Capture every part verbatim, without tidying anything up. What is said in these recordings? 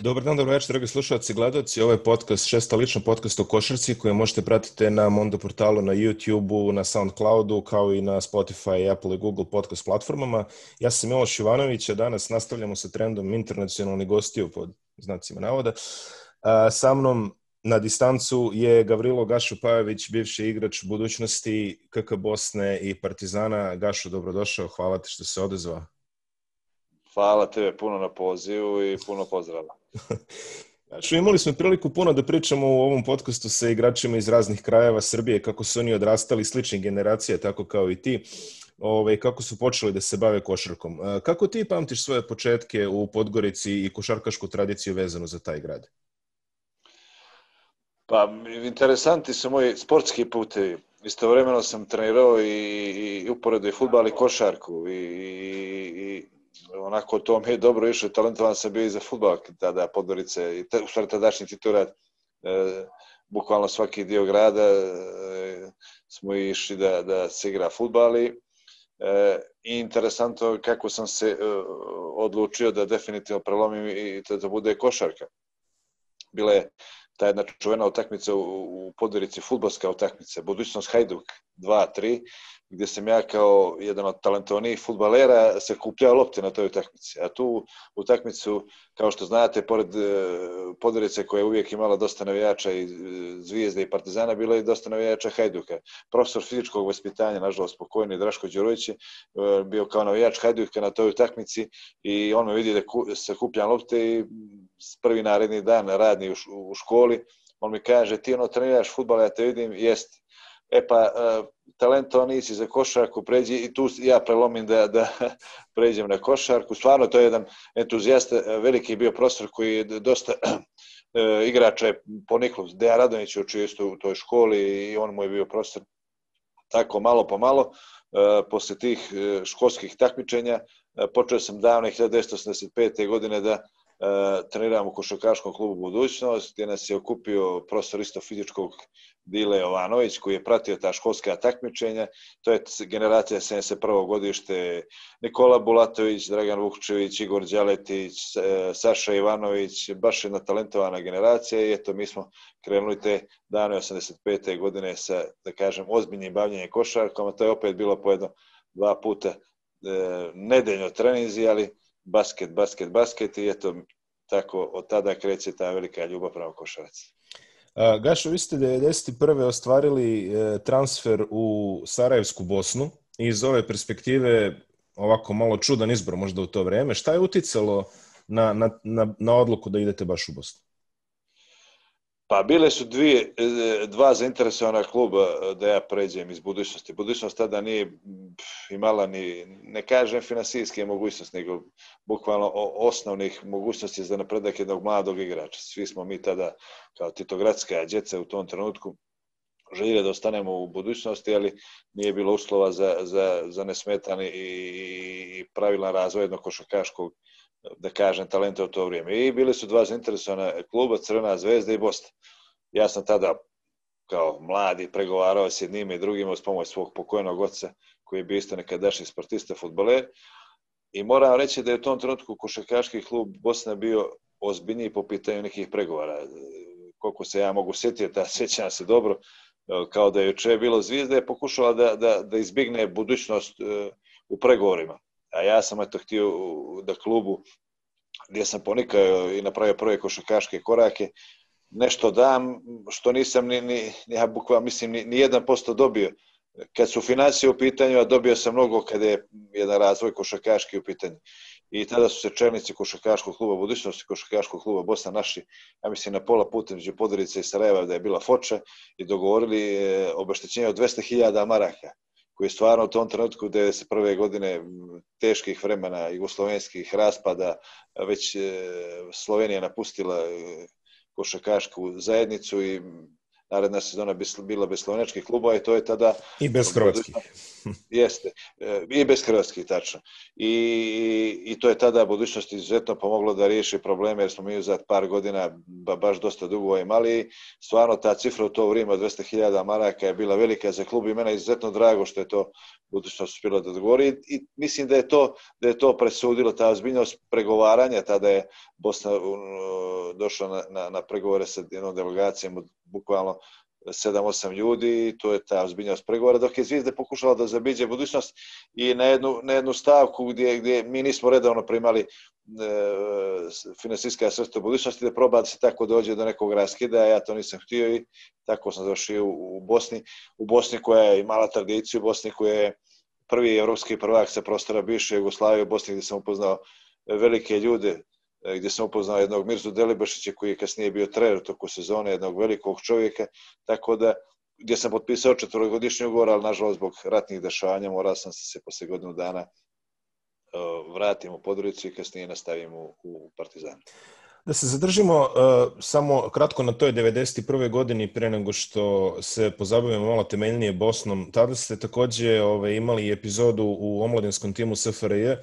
Dobar dan, dobro večer, dragi slušalci i gledalci. Ovo je podcast, šesta lična podcast o košarci koje možete pratiti na Mondo portalu, na YouTubeu, na SoundCloudu, kao i na Spotify, Apple i Google podcast platformama. Ja sam Miloš Ivanović, a danas nastavljamo sa trendom internacionalnih gostiju pod znacima navoda. A, sa mnom na distancu je Gavrilo Gašo Pajović, bivši igrač budućnosti K K Bosne i Partizana. Gašo, dobrodošao, hvala ti što se odezvao. Hvala tebe puno na pozivu i puno pozdrava. Znači, imali smo priliku puno da pričamo u ovom podcastu sa igračima iz raznih krajeva Srbije, kako su oni odrastali, sličnih generacija, tako kao i ti, ove, kako su počeli da se bave košarkom. Kako ti pamtiš svoje početke u Podgorici i košarkašku tradiciju vezanu za taj grad? Pa, interesanti su moji sportski putevi. Istovremeno sam trenirao i, i uporedo i fudbal i košarku i, i onako to mi je dobro išlo, talentovan sam bio i za fudbal tada Podgorice i u stvari tadašnji titular, e, bukvalno svaki dio grada e, smo išli da, da se igra fudbal i e, interesantno kako sam se e, odlučio da definitivno prelomim i da, da bude košarka. Bila je ta jedna čuvena utakmica u, u Podgorici, fudbalska utakmica, budućnost Hajduk dva tri, gdje sam ja kao jedan od talentovanijih fudbalera se kupljao lopte na toj utakmici. A tu utakmicu, kao što znate, pored Podgorice koja je uvijek imala dosta navijača i Zvijezde i Partizana, bilo je i dosta navijača Hajduka. Profesor fizičkog vaspitanja, nažalost pokojni Draško Đurović, bio kao navijač Hajduka na toj utakmici i on me vidi da se kupljam lopte i prvi naredni dan radni u školi, on mi kaže, ti ono treniraš fudbal, ja te vidim, jest. E pa, talentovan nisi za košarku, pređi i tu ja prelomim da, da pređem na košarku. Stvarno, to je jedan entuzijasta, veliki bio profesor koji je dosta igrača je poniklo. Dejan Radonjić je učio isto u toj školi i on mu je bio profesor. Tako malo po malo, posle tih školskih takmičenja, počeo sam davne hiljadu devetsto osamdeset pete. godine da treniram u košarkaškom klubu Budućnost, gdje nas je okupio profesor isto fizičkog Dile Jovanović, koji je pratio ta školska takmičenja. To je generacija sedamdeset prvo godište, Nikola Bulatović, Dragan Vukčević, Igor Đaletić, Saša Ivanović, baš jedna talentovana generacija i eto mi smo krenuli te dane osamdeset pete. godine sa, da kažem, ozbiljnim bavljenjem košarkom, a to je opet bilo po jedno dva puta e, nedeljno treninzi, ali basket, basket, basket i eto tako od tada kreće ta velika ljubav prema košarci. Gašo, vi ste devedeset prve ostvarili transfer u Sarajevsku Bosnu i iz ove perspektive ovako malo čudan izbor možda u to vreme. Šta je uticalo na, na, na, na odluku da idete baš u Bosnu? Pa bile su dvije, dva zainteresovana kluba da ja pređem iz Budućnosti. Budućnost tada nije imala ni, ne kažem finansijske mogućnosti, nego bukvalno osnovnih mogućnosti za napredak jednog mladog igrača. Svi smo mi tada kao titogradska djeca u tom trenutku željeli da ostanemo u Budućnosti, ali nije bilo uslova za, za, za nesmetani i pravilan razvoj jednog košarkaškog, da kažem, talenta u to vrijeme. I bili su dva zainteresovana kluba, Crvena zvezda i Bosna. Ja sam tada kao mladi pregovarao s jednim i drugim uz pomoć svog pokojnog oca, koji je bio isto nekadašnji sportista, fudbaler. I moram reći da je u tom trenutku košarkaški klub Bosna bio ozbiljniji po pitanju nekih pregovara. Koliko se ja mogu sjetiti, a sjećam se dobro, kao da je juče bilo Zvijezda, je pokušala da, da, da izbigne budućnost u pregovorima. A ja sam eto htio da klubu gdje sam ponikao i napravio prve košarkaške korake, nešto dam što nisam ni, ni ja bukvalno mislim ni, ni jedan posto dobio. Kad su financije u pitanju, a dobio sam mnogo kada je jedan razvoj košarkaški u pitanju. I tada su se čelnici košarkaškog kluba Budućnosti, košarkaškog kluba Bosna našli, ja mislim, na pola puta među Podgorice i Sarajeva da je bila foča i dogovorili obeštećenje od dvesta hiljada maraka, koji je stvarno u tom trenutku devedeset prve. godine teških vremena, jugoslovenskih raspada, već Slovenija napustila košarkašku zajednicu i naredna sezona bila bez slovenačkih klubova i to je tada... I bez hrvatskih. Jeste, i bez hrvatskih, tačno. I, i to je tada budućnost izuzetno pomoglo da riješi probleme, jer smo mi za par godina ba, baš dosta dugo imali. Stvarno ta cifra u to vrijeme od dvesta hiljada maraka je bila velika za klub i mene je izuzetno drago što je to budućnost uspjela da odgovori. I, i mislim da je to, da je to presudilo, ta ozbiljnost pregovaranja. Tada je Bosna uh, došla na, na, na pregovore sa jednom delegacijom od bukvalno sedam osam ljudi i to je ta ozbiljnost pregovora, dok je Zvijezda pokušala da zabiđe budućnost i na jednu, na jednu stavku gdje, gdje mi nismo redovno primali e, finansijska sredstva budućnosti, da proba da se tako dođe do nekog raskida, ja to nisam htio i tako sam završio u, u Bosni. U Bosni koja je imala tradiciju, u Bosni koja je prvi evropski prvak sa prostora bivše Jugoslavije, u Bosni gdje sam upoznao velike ljude, gdje sam upoznao jednog Mirzu Delibašića koji je kasnije bio trener toku sezone, jednog velikog čovjeka, tako da gdje sam potpisao četvorogodišnji ugovor, ali nažalost zbog ratnih dešavanja morao sam se poslije godinu dana uh, vratim u Podgoricu i kasnije nastavim u, u Partizanu. Da se zadržimo uh, samo kratko na toj devedeset prve godini prije nego što se pozabavimo malo temeljnije Bosnom. Tada ste također ove, imali epizodu u omladinskom timu S F R J.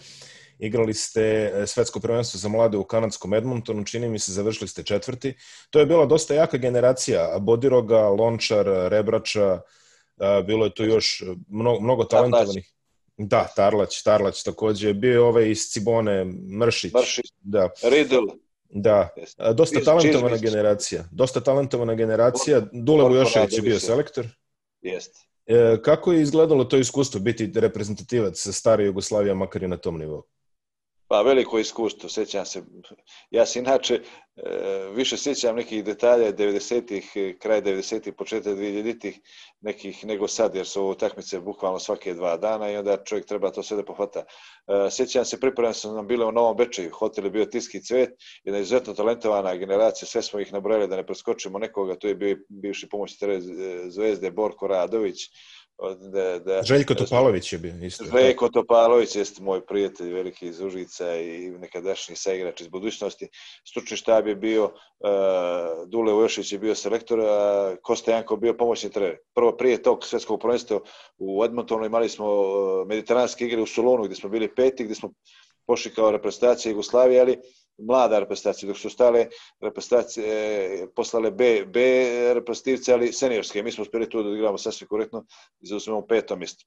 Igrali ste svetsko prvenstvo za mlade u kanadskom Edmontonu, čini mi se završili ste četvrti. To je bila dosta jaka generacija, Bodiroga, Lončar, Rebrača, bilo je tu još mnogo, mnogo talentovanih. Da, Tarlać, Tarlać također. Bio je ovaj iz Cibone, Mršić. Mršić, da. Riddle. Da, dosta talentovana generacija. Dosta talentovana generacija. Dule Vujošević je bio selektor. Jeste. Kako je izgledalo to iskustvo biti reprezentativac stare Jugoslavije, makar i na tom nivou? Pa veliko iskustvo, sjećam se. Ja se inače e, više sjećam nekih detalja devedesetih, kraj devedesetih, početak dvijezditih nekih nego sad, jer su ovo utakmice bukvalno svake dva dana i onda čovjek treba to sve da pohvata. E, sjećam se, pripremljeni su nam bile u Novom Bečeju, hotel je bio Tiski cvet, jedna izuzetno talentovana generacija, sve smo ih nabrojali da ne preskočimo nekoga, tu je bio bivši pomoćnik Zvezde, Borko Radović, Da, da, Željko Topalović je bio isto. Željko Topalović jeste moj prijatelj veliki iz Užica i nekadašnji saigrač iz budućnosti. Stručni štab je bio, uh, Dule Vujošević je bio selektor, a Kosta Janko bio pomoćni trener. Prvo prije tog svetskog prvenstva u Edmontonu imali smo uh, mediteranske igre u Solunu gdje smo bili peti, gdje smo pošli kao reprezentacija Jugoslavije, ali mlada reprezentacija, dok su stale reprezentacije poslale B, B reprezentativce, ali seniorske. Mi smo uspjeli tu da odigramo sasvim korektno i zauzmemo peto mjesto.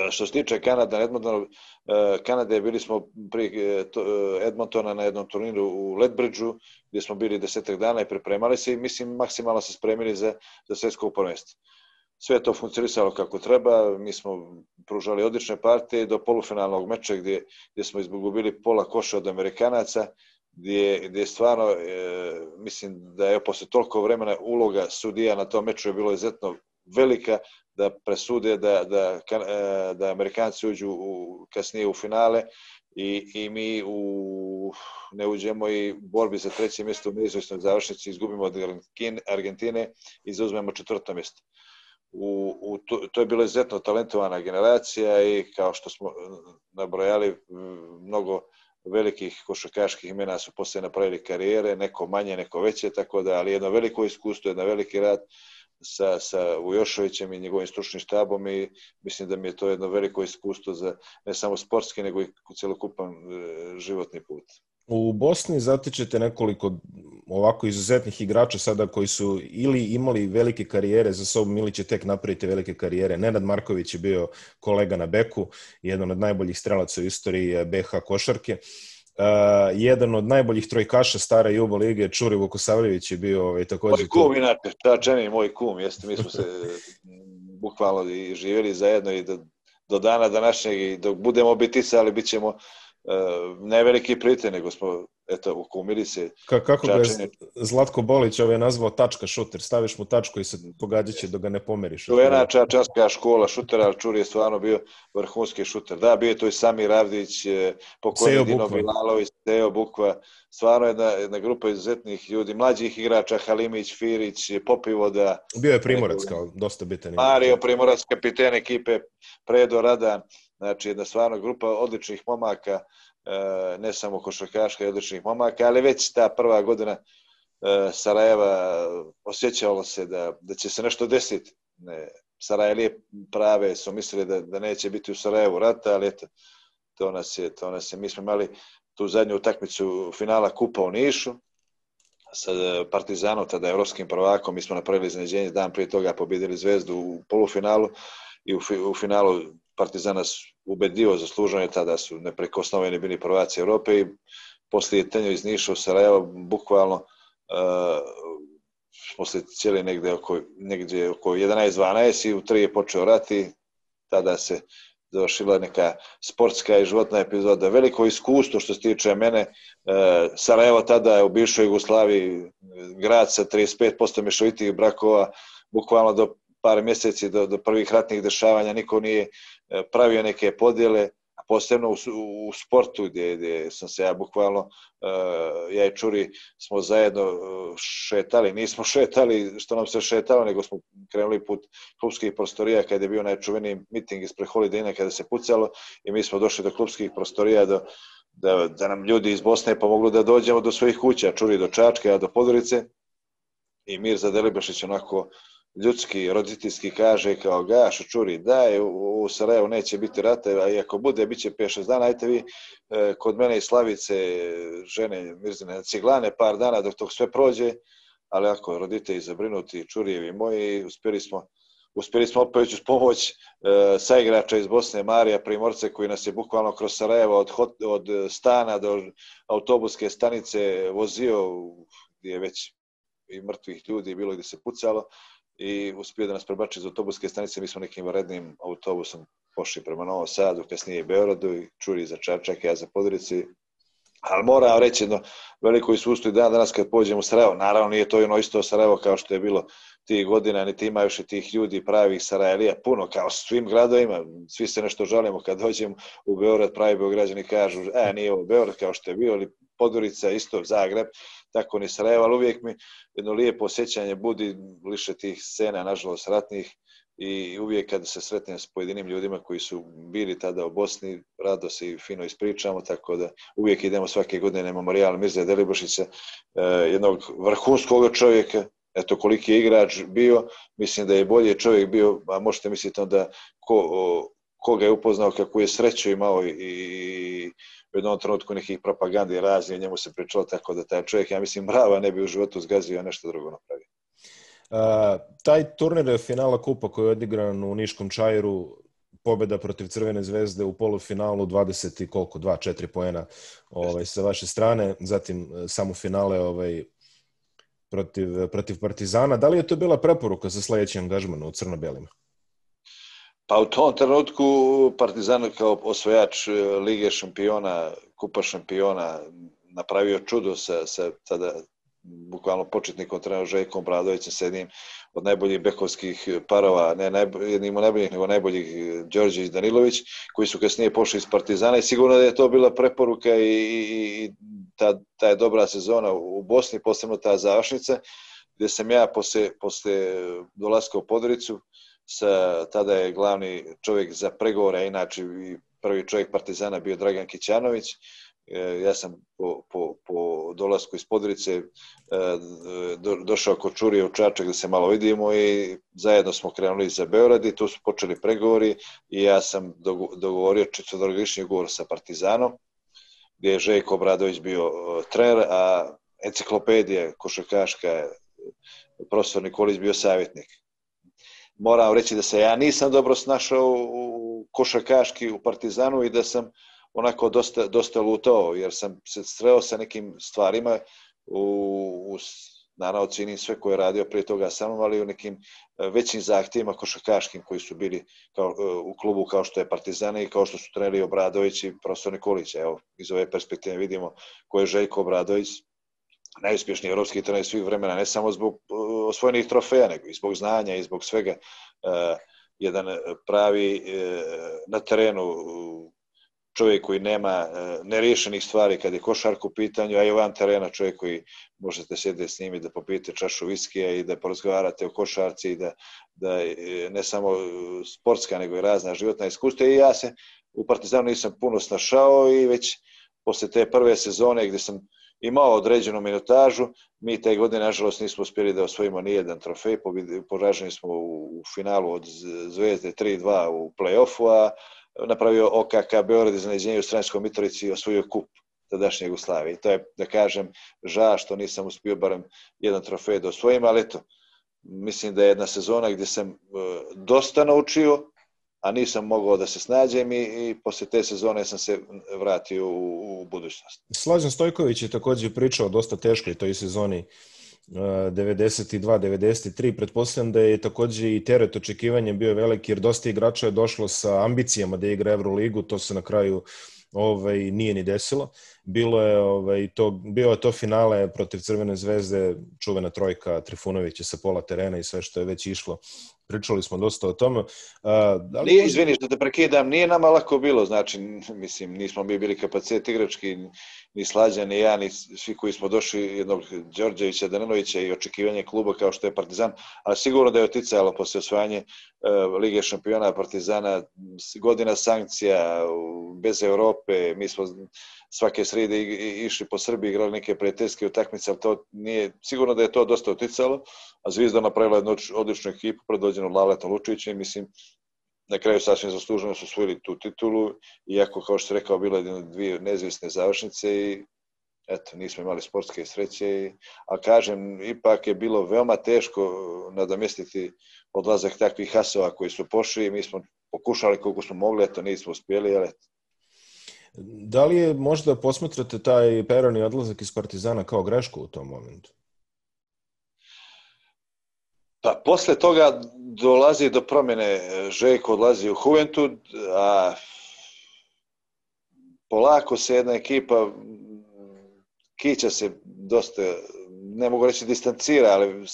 Što se tiče Kanada, Edmontona, Kanade, bili smo prije Edmontona na jednom turniru u Lethbridgeu, gdje smo bili desetak dana i pripremali se i mislim maksimalno se spremili za, za svjetsko prvenstvo. Sve je to funkcionisalo kako treba, mi smo pružali odlične partije do polufinalnog meča gdje, gdje smo izgubili pola koša od Amerikanaca, gdje, gdje stvarno, e, mislim da je posle toliko vremena uloga sudija na tom meču je bilo izuzetno velika da presude da, da, da Amerikanci uđu u, kasnije u finale i, i mi u, ne uđemo i u borbi za treće mjesto u neizvjesnoj završnici izgubimo od Argentine i zauzmemo četvrto mjesto. U, u, to, to je bila izuzetno talentovana generacija i kao što smo nabrojali, mnogo velikih košarkaških imena su poslije napravili karijere, neko manje, neko veće, tako da, ali jedno veliko iskustvo, jedan veliki rad sa, sa Vujoševićem i njegovim stručnim štabom i mislim da mi je to jedno veliko iskustvo za ne samo sportski, nego i cjelokupan e, životni put. U Bosni zatičete nekoliko ovako izuzetnih igrača sada koji su ili imali velike karijere za sobom ili će tek napraviti velike karijere. Nenad Marković je bio kolega na beku, jedan od najboljih strelaca u istoriji B H košarke. Uh, jedan od najboljih trojkaša stare Jubo lige, Čuri Vukosavljević je bio ovaj, također... Moj kum, inače, Čačani, moj kum, jeste, mi smo se bukvalno i živjeli zajedno i do, do dana današnjeg i dok budemo biticali, bit ćemo Uh, ne veliki prijatelj, nego smo eto, ukumili se. Ka, kako ga je Zlatko Bolić ovaj nazvao tačka šuter, staviš mu tačku i se pogađat će dok ga ne pomeriš. Čuvena čačanska škola šutera, ali Čuri je stvarno bio vrhunski šuter. Da, bio je to i Samir Ravdić, pokojni Dino Bilalović, Teo Bukva, stvarno jedna, jedna grupa izuzetnih ljudi, mlađih igrača, Halimić, Firić, Popivoda. Bio je Primorac kao dosta bitan. Mario Primorac, kapiten ekipe, Predo Radan. Znači, jedna stvarno grupa odličnih momaka, ne samo košarkaška i odličnih momaka, ali već ta prva godina Sarajeva osjećalo se da, da će se nešto desiti. Ne, Sarajlije prave su mislili da, da neće biti u Sarajevu rata, ali eto, to nas je, to nas je. Mi smo imali tu zadnju utakmicu finala Kupa u Nišu sa Partizanom, tada evropskim prvakom. Mi smo napravili iznenađenje, dan prije toga pobjedili Zvezdu u polufinalu i u, u finalu Partizan nas ubedio, zasluženo je, tada su neprekosnoveni bili prvaci Europe i poslije tenju iz Niša u Sarajevo, bukvalno uh, poslije cijeli negdje oko, negdje oko jedanaest dvanaest i u tri je počeo rat i tada se završila neka sportska i životna epizoda. Veliko iskustvo što se tiče mene. Sarajevo tada je u bivšoj Jugoslaviji grad sa trideset pet posto mješovitih brakova, bukvalno do par mjeseci, do, do prvih ratnih dešavanja niko nije pravio neke podjele, a posebno u, u sportu gdje, gdje sam se ja bukvalno, ja i Čuri smo zajedno šetali, nismo šetali što nam se šetalo, nego smo krenuli put klubskih prostorija kada je bio najčuveniji miting ispred Holiday Inna kada se pucalo i mi smo došli do klubskih prostorija do, da, da nam ljudi iz Bosne pomogli da dođemo do svojih kuća, Čuri do Čačke, a do Podgorice i Mirza Delibašić onako ljudski, roditeljski kaže kao Gašo, Čuri, daj, u, u Sarajevu neće biti rata, a i ako bude, bit će pet šest dana, ajte vi e, kod mene i Slavice, žene Mirzine, ciglane par dana dok to sve prođe, ali ako roditelji zabrinuti, Čurijevi moji, uspjeli smo, uspjeli smo opet uz pomoć e, saigrača iz Bosne, Marija Primorce, koji nas je bukvalno kroz Sarajevo od, hot, od stana do autobuske stanice vozio, gdje je već i mrtvih ljudi bilo gdje se pucalo, i uspio da nas prebači iz autobuske stanice. Mi smo nekim varednim autobusom pošli prema Novom Sadu, kasnije i Beogradu i Čuri za Čačak, ja za Podgorici. Ali moram reći jedno veliko iskustvo i dan danas kad pođem u Sarajevo. Naravno nije to ono isto Sarajevo kao što je bilo tih godina, niti ima još i tih ljudi pravih Sarajlija puno, kao svim gradovima. Svi se nešto žalimo kad dođemo u Beograd, pravi Beograđani kažu, e, nije ovo Beograd kao što je bio, ali Podgorica, isto Zagreb, tako ni Sarajevo, ali uvijek mi jedno lijepo osjećanje budi liše tih scena, nažalost ratnih, i uvijek kada se sretnem s pojedinim ljudima koji su bili tada u Bosni, rado se i fino ispričamo, tako da uvijek idemo svake godine na memorijal Mirze Delibašića, jednog vrhunskog čovjeka. Eto koliki je igrač bio, mislim da je bolji čovjek bio, a možete misliti onda ko, ko ga je upoznao, kako je sreću imao i, i u jednom trenutku nekih propagandi raznih, njemu se pričalo, tako da taj čovjek, ja mislim, brava, ne bi u životu zgazio, a nešto drugo napravio. Uh, taj turnir finala Kupa koji je odigran u Niškom Čairu, pobjeda protiv Crvene zvezde u polufinalu, dvadeset i koliko, dva četiri poena ovaj, sa vaše strane, zatim samo finale ovaj, protiv, protiv Partizana. Da li je to bila preporuka za sljedeći angažman u crno-belima? Pa u tom trenutku Partizan kao osvajač Lige šampiona, Kupa šampiona napravio čudo sa, sa tada bukvalno početnikom trenerom Željkom Obradovićem, s jednim od najboljih bekovskih parova, ne najbolj, jednim od najboljih, nego najboljih Đorđević i Danilović, koji su kasnije pošli iz Partizana i sigurno da je to bila preporuka i, i, i ta, ta je dobra sezona u Bosni, posebno ta završnica, gdje sam ja posle, posle dolaska u Podgoricu, sa, tada je glavni čovjek za pregovore, inače i prvi čovjek Partizana bio Dragan Kićanović. Ja sam po, po, po dolasku iz Podgorice do, došao kod Čurije u Čačak da se malo vidimo i zajedno smo krenuli za Beograd i tu su počeli pregovori i ja sam dogovorio četverogodišnji ugovor sa Partizanom, gdje je Željko Obradović bio trener, a enciklopedija košarkaška profesor Nikolić bio savjetnik. Moram reći da se ja nisam dobro snašao u košarkaški u Partizanu i da sam onako dosta, dosta lutao, jer sam se sreo sa nekim stvarima, u, u, naravno cijenim sve koje je radio prije toga sa mnom, ali u nekim većim zahtjevima košarkaškim koji su bili kao, u klubu kao što je Partizan i kao što su treneri Obradović i profesor Nikolić. Evo, iz ove perspektive vidimo ko je Željko Obradović, najuspješniji evropski trener svih vremena, ne samo zbog osvojenih trofeja, nego i zbog znanja i zbog svega. Uh, jedan pravi uh, na terenu čovjek koji nema uh, neriješenih stvari kad je košarka u pitanju, a i van terena čovjek koji možete sjediti s njim i da popijete čašu viskija i da porazgovarate o košarci i da, da ne samo sportska nego i razna životna iskustva. I ja se u Partizanu nisam puno snašao i već posle te prve sezone gdje sam imao određenu minutažu. Mi te godine, nažalost, nismo uspjeli da osvojimo ni jedan trofej. Poraženi smo u finalu od Zvezde tri dva u play-offu, a napravio O K K Beograd iznenađenje u Sremskoj Mitrovici i osvojio kup tadašnje Jugoslavije. I to je, da kažem, žao što nisam uspio barem jedan trofej da osvojim, ali eto, mislim da je jedna sezona gdje sam dosta naučio, a nisam mogao da se snađem i, i poslije te sezone sam se vratio u, u budućnost. Slađan Stojković je također pričao dosta teškoj toj sezoni devedeset dva devedeset tri. Pretpostavljam da je također i teret očekivanja bio veliki jer dosta igrača je došlo sa ambicijama da igra Euroligu, to se na kraju ovaj, nije ni desilo. Bilo je, ovaj, to, bio je to finale protiv Crvene zvezde, čuvena trojka Trifunovića sa pola terena i sve što je već išlo. Pričali smo dosta o tome. A, da li nije, možda... Izvini što te prekidam, nije nama lako bilo, znači, mislim, nismo mi bili kapacitet igrački, ni Slađan, ni ja, ni svi koji smo došli, jednog Đorđevića, Dananovića i očekivanje kluba kao što je Partizan, ali sigurno da je oticalo poslije osvajanje uh, Lige šampiona Partizana, godina sankcija, bez Europe, mi smo svake srede išli po Srbiji, igrali neke prijateljske utakmice, ali to nije, sigurno da je to dosta oticalo, a Zvizda napravila jednu odličnu ekipu predvođenu Lavletom Lučevićem i mislim na kraju sasvim zasluženo su osvojili tu titulu, iako kao što se rekao bilo je dvije nezavisne završnice i eto, nismo imali sportske sreće, a kažem, ipak je bilo veoma teško nadomjestiti odlazak takvih hasova koji su pošli i mi smo pokušali koliko smo mogli, eto nismo uspjeli, ali eto. Da li je možda posmatrate taj Peroni odlazak iz Partizana kao grešku u tom momentu? Pa posle toga dolazi do promjene, Željko odlazi u Juventud, a polako se jedna ekipa kića se dosta, ne mogu reći distancira, ali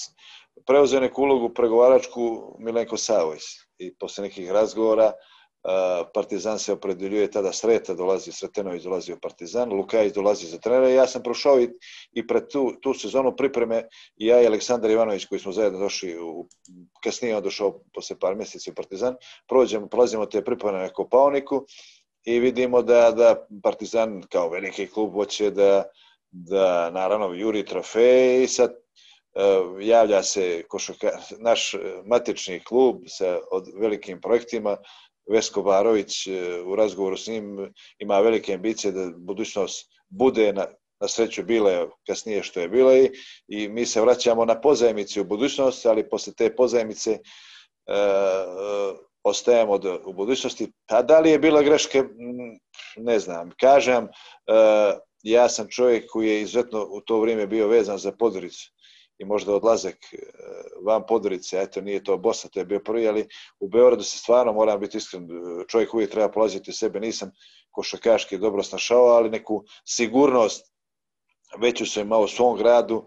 preuzeo neku ulogu pregovaračku Milenko Savojs i posle nekih razgovora Partizan se opredeljuje tada Sreta, dolazi Sretenović, dolazi u Partizan, Lukajić dolazi za trenera i ja sam prošao i, i pred tu, tu sezonu pripreme i ja i Aleksandar Ivanović koji smo zajedno došli, u, kasnije on došao posle par mjeseci u Partizan, prođemo, prolazimo te pripreme na Kopaoniku i vidimo da, da Partizan kao veliki klub hoće da, da naravno juri trofej i sad uh, javlja se košaka, naš matični klub sa od velikim projektima. Vesko Barović u razgovoru s njim ima velike ambicije da budućnost bude na, na sreću bile kasnije što je bila i, i mi se vraćamo na pozajmici u budućnost, ali posle te pozajmice e, ostajemo do, u budućnosti. A da li je bila greške? Ne znam. Kažem, e, ja sam čovjek koji je izuzetno u to vrijeme bio vezan za Podgoricu i možda odlazak van Podgorice, eto nije to Bosna, to je bio prvi, ali u Beogradu se stvarno, moram biti iskren, čovjek uvijek treba polaziti u sebe, nisam košarkaški dobro snašao, ali neku sigurnost veću sam imao u svom gradu,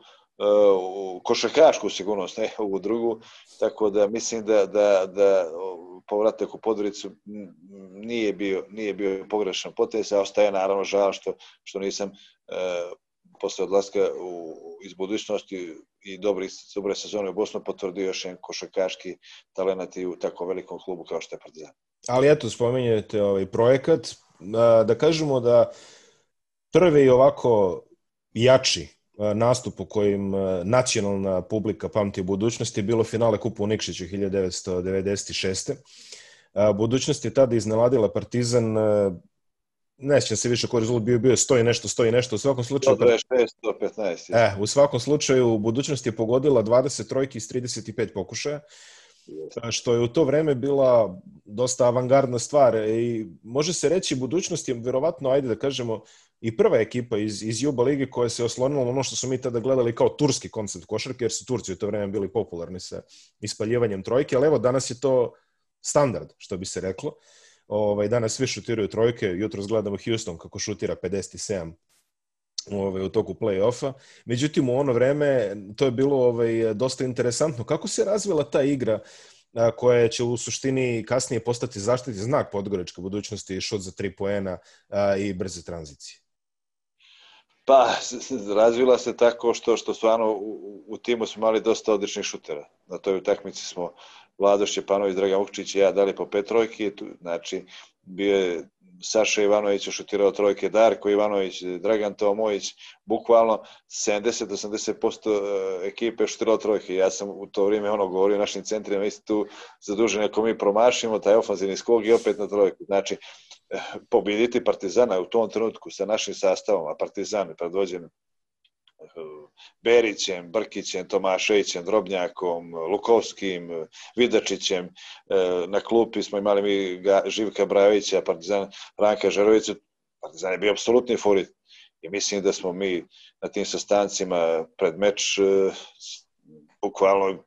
košarkašku sigurnost, ne ovu drugu, tako da mislim da, da, da povratak u Podgoricu nije bio, nije bio pogrešan potez, a ostaje naravno žal što, što nisam posle odlaska u, iz budućnosti i dobri, dobre sezone u Bosnu potvrdio još jedan košarkaški talent i u tako velikom klubu kao što je Partizan. Ali eto, spominjete ovaj projekat, da, da kažemo da prvi ovako jači nastup u kojim nacionalna publika pamti u budućnosti je bilo finale Kupa u Nikšiću hiljadu devetsto devedeset šeste. Budućnost je tada iznenadila Partizan, ne sjećam se više koji rezultat bio, bio sto i nešto, sto i nešto, u svakom slučaju... sto dvadeset šest, sto petnaest. E, u svakom slučaju, budućnost je pogodila dvadeset trojki iz trideset pet pokušaja, što je u to vreme bila dosta avangardna stvar i može se reći budućnost je vjerovatno, ajde da kažemo, i prva ekipa iz, iz Juba lige koja se oslonila ono što su mi tada gledali kao turski koncept košarke, jer su Turci u to vreme bili popularni sa ispaljivanjem trojke, ali evo danas je to standard, što bi se reklo. Ovaj, danas svi šutiraju trojke, jutros gledamo Houston kako šutira pedeset sedam ovaj, u toku play-offa. Međutim, u ono vreme to je bilo ovaj, dosta interesantno. Kako se razvila ta igra a, koja će u suštini kasnije postati zaštitni znak podgoričke budućnosti, šut za tri poena a, i brze tranzicije? Pa, razvila se tako što, što stvarno u, u timu smo imali dosta odličnih šutera. Na toj utakmici smo Vlado Šćepanović, Dragan Vukčić i ja dali po pet trojki, znači bio je Saša Ivanović je šutirao trojke, Darko Ivanović, Dragan Tomović, bukvalno sedamdeset do osamdeset posto ekipe je šutirao trojke. Ja sam u to vrijeme ono govorio našim centrima, isti tu zaduženi ako mi promašimo taj ofanzivni skok i opet na trojku. Znači, pobjediti Partizana u tom trenutku sa našim sastavom, a Partizan je predvođen Berićem, Brkićem, Tomaševićem, Drobnjakom, Lukovskim, Vidačićem. Na klupi smo imali mi Živka Brajovića, Partizan Ranka Žarovića. Partizan je bio apsolutni favorit. I mislim da smo mi na tim sastancima pred meč bukvalno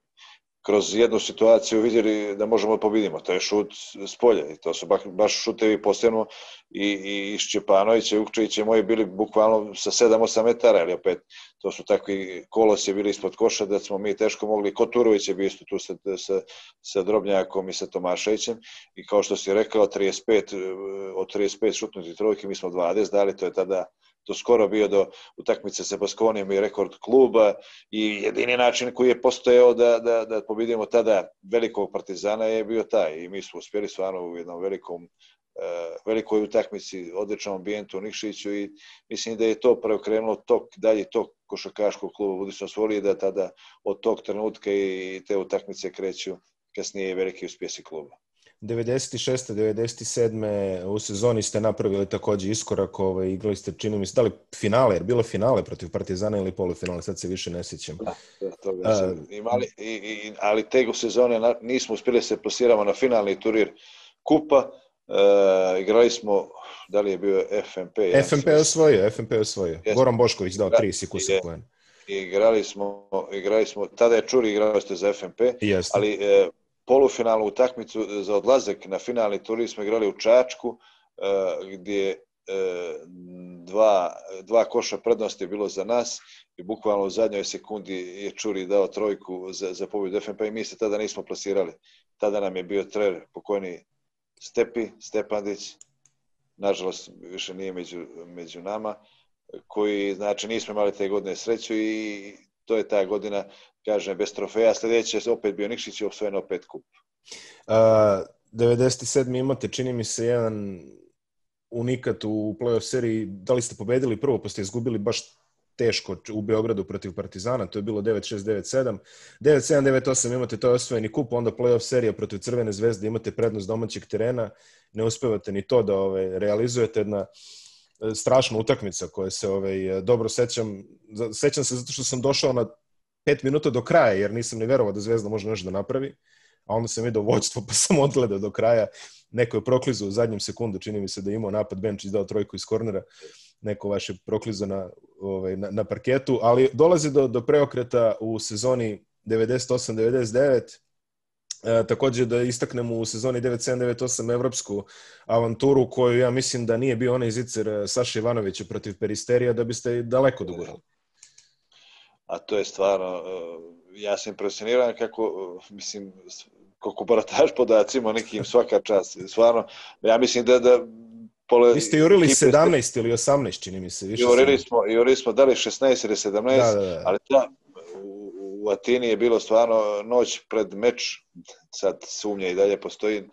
kroz jednu situaciju vidjeli da možemo pobedimo. To je šut s polja i to su baš šutevi posebno i, i Šćepanović i Ukčević i moji bili bukvalno sa sedam osam metara, ali opet to su takvi kolosi bili ispod koša da smo mi teško mogli. Koturović je bio isto tu sa, sa, sa Drobnjakom i sa Tomaševićem i kao što si rekao, trideset pet, od trideset pet šutnuti trojke mi smo dvadeset dali, to je tada to skoro bio do utakmice sa Baskonijom i rekord kluba i jedini način koji je postojao da, da, da pobedimo tada velikog Partizana je bio taj i mi smo uspjeli stvarno u jednom velikom, uh, velikoj utakmici, odličnom ambijentu u Nikšiću i mislim da je to preokrenulo tok, dalje tok košarkaškog kluba Budućnost Svolije da tada od tog trenutka i te utakmice kreću kasnije i veliki uspjesi kluba. devedeset šeste devedeset sedme u sezoni ste napravili također iskorak, ovaj, igrali ste, čini mi se, da li finale, jer bilo finale protiv Partizana ili polufinale, sad se više ne sjećam. Da, toga se imali, i, i, ali te sezone nismo uspjeli se plasiramo na finalni turnir kupa, e, igrali smo, da li je bio F M P? F M P je osvojio, F M P je osvojio. Jesmo. Goran Bošković dao tri sikusa poena. Igrali smo, igrali smo, tada je Čuri igrali ste za F M P, Jeste. ali e, polufinalnu utakmicu za odlazak na finalni turnir smo igrali u Čačku, gdje dva, dva koša prednosti je bilo za nas i bukvalno u zadnjoj sekundi je Čuri dao trojku za, za pobjedu F M P i mi se tada nismo plasirali. Tada nam je bio trener pokojni Stepi, Stepandić, nažalost više nije među, među nama, koji, znači, nismo imali te godine sreću i to je ta godina, kažem, bez trofeja. Sljedeće je opet bio Nikšić i osvojeno opet kup. Uh, devedeset sedme imate, čini mi se, jedan unikat u play-off seriji. Da li ste pobedili prvo, pa ste izgubili baš teško u Beogradu protiv Partizana, to je bilo devet šest devet sedam. devet sedam devet osam imate, to je osvojeni kup, onda play-off serija protiv Crvene zvezde, imate prednost domaćeg terena, ne uspevate ni to da ove, realizujete. Jedna strašna utakmica koja se ovaj, dobro sećam. Sećam se zato što sam došao na pet minuta do kraja, jer nisam ni verovao da Zvezda može nešto da napravi, a onda sam vidio vođstvo pa sam odgledao do kraja. Neko je proklizao u zadnjem sekundu, čini mi se da je imao napad, Benčić dao trojku iz kornera, neko vaš je proklizao na, ovaj, na, na parketu, ali dolazi do, do preokreta u sezoni devedeset osam devedeset devet. E, također da istaknemo u sezoni devedeset sedam devedeset osam evropsku avanturu koju ja mislim da nije bio onaj zicer Saša Ivanovića protiv Peristerija, da biste daleko dogurali. A to je stvarno, ja sam impresioniran kako, mislim, kako barataš podacima nekim svaka čast. Stvarno, ja mislim da... da pole, Vi ste jurili sedamnaest ste, ili osamnaest, čini mi se. Više jurili, smo, jurili smo da li šesnaest ili sedamnaest, da, da, da. Ali da, u, u Atini je bilo stvarno noć pred meč, sad sumnja i dalje postoji,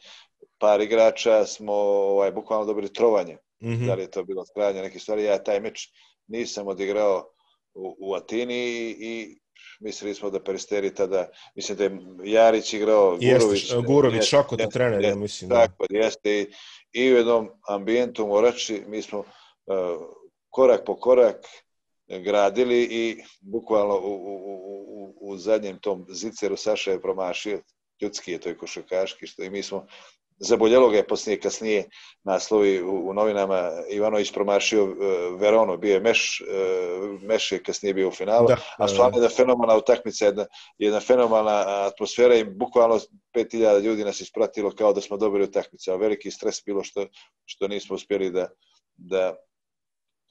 par igrača smo ovaj, bukvalno dobili trovanje. Mm-hmm. Da li je to bilo trajanje neke stvari. Ja taj meč nisam odigrao u, u Atini i, i mislili smo da Peristeri tada, mislim da je Jarić igrao, Gurović. Jeste, Gurović, Šakota trener, ja mislim. Tako, jeste. I, i u jednom ambijentu Morači mi smo uh, korak po korak gradili i bukvalno u, u, u, u zadnjem tom ziceru Saša je promašio, ljudski je to i košarkaški, što i mi smo zaboljelo ga je poslije, kasnije naslovi u, u novinama, Ivanović promašio uh, Veronu, bio je Meš, uh, Meš je kasnije bio u finalu, da, a stvarno jedna fenomenalna utakmica, jedna, jedna fenomenalna atmosfera i bukvalno pet hiljada ljudi nas ispratilo kao da smo dobili utakmicu, a veliki stres bilo što, što nismo uspjeli da, da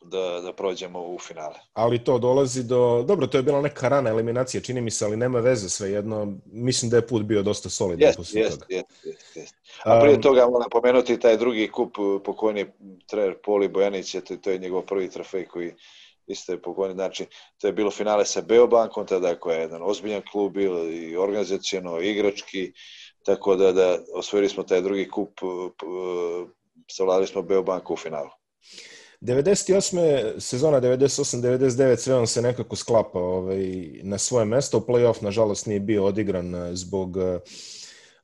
Da, da prođemo u finale. Ali to dolazi do... Dobro, to je bila neka rana eliminacija, čini mi se, ali nema veze svejedno. Mislim da je put bio dosta solidan jest, posle jest, toga. Jest, jest, jest. A prije um, toga moram pomenuti taj drugi kup, pokojni trener Poli Bojanić, to, to je njegov prvi trofej koji isto je pokojni. Znači, to je bilo finale sa Beobankom, tada koja je jedan ozbiljan klub bil i organizacijono, i igrački, tako da, da osvojili smo taj drugi kup savladali smo Beobanku u finalu. devedeset osme sezona devedeset osam devedeset devet sve on se nekako sklapa ovaj, na svoje mesto. U play-off, nažalost, nije bio odigran zbog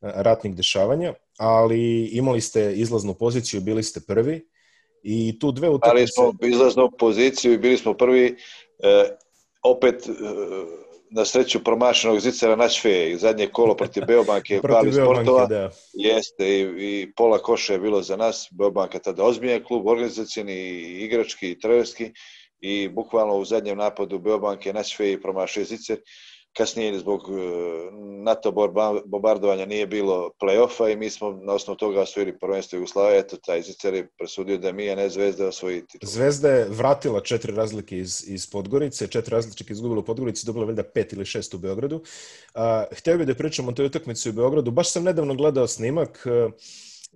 ratnih dešavanja, ali imali ste izlaznu poziciju, bili ste prvi i tu dve utakmice... Ali smo izlaznu poziciju i bili smo prvi, eh, opet eh, na sreću promašenog Zicera Načfe i zadnje kolo protiv Beobanke protiv sportova, da. Jeste i, i pola koša je bilo za nas. Beobanka tada ozbiljan klub, organizacijni, igrački i trenerski i bukvalno u zadnjem napadu Beobanke Načfe i promašio Zicer. Kasnije zbog NATO bombardovanja nije bilo play-offa i mi smo na osnovu toga osvojili prvenstvo Jugoslavije. Eto, taj Zicer je presudio da mi, a ne Zvezda, osvoji titul. Zvezda je vratila četiri razlike iz, iz Podgorice, četiri razlike izgubila u Podgorici, dobila valjda pet ili šest u Beogradu. Uh, htio bih da pričam o toj utakmici u Beogradu. Baš sam nedavno gledao snimak. Uh,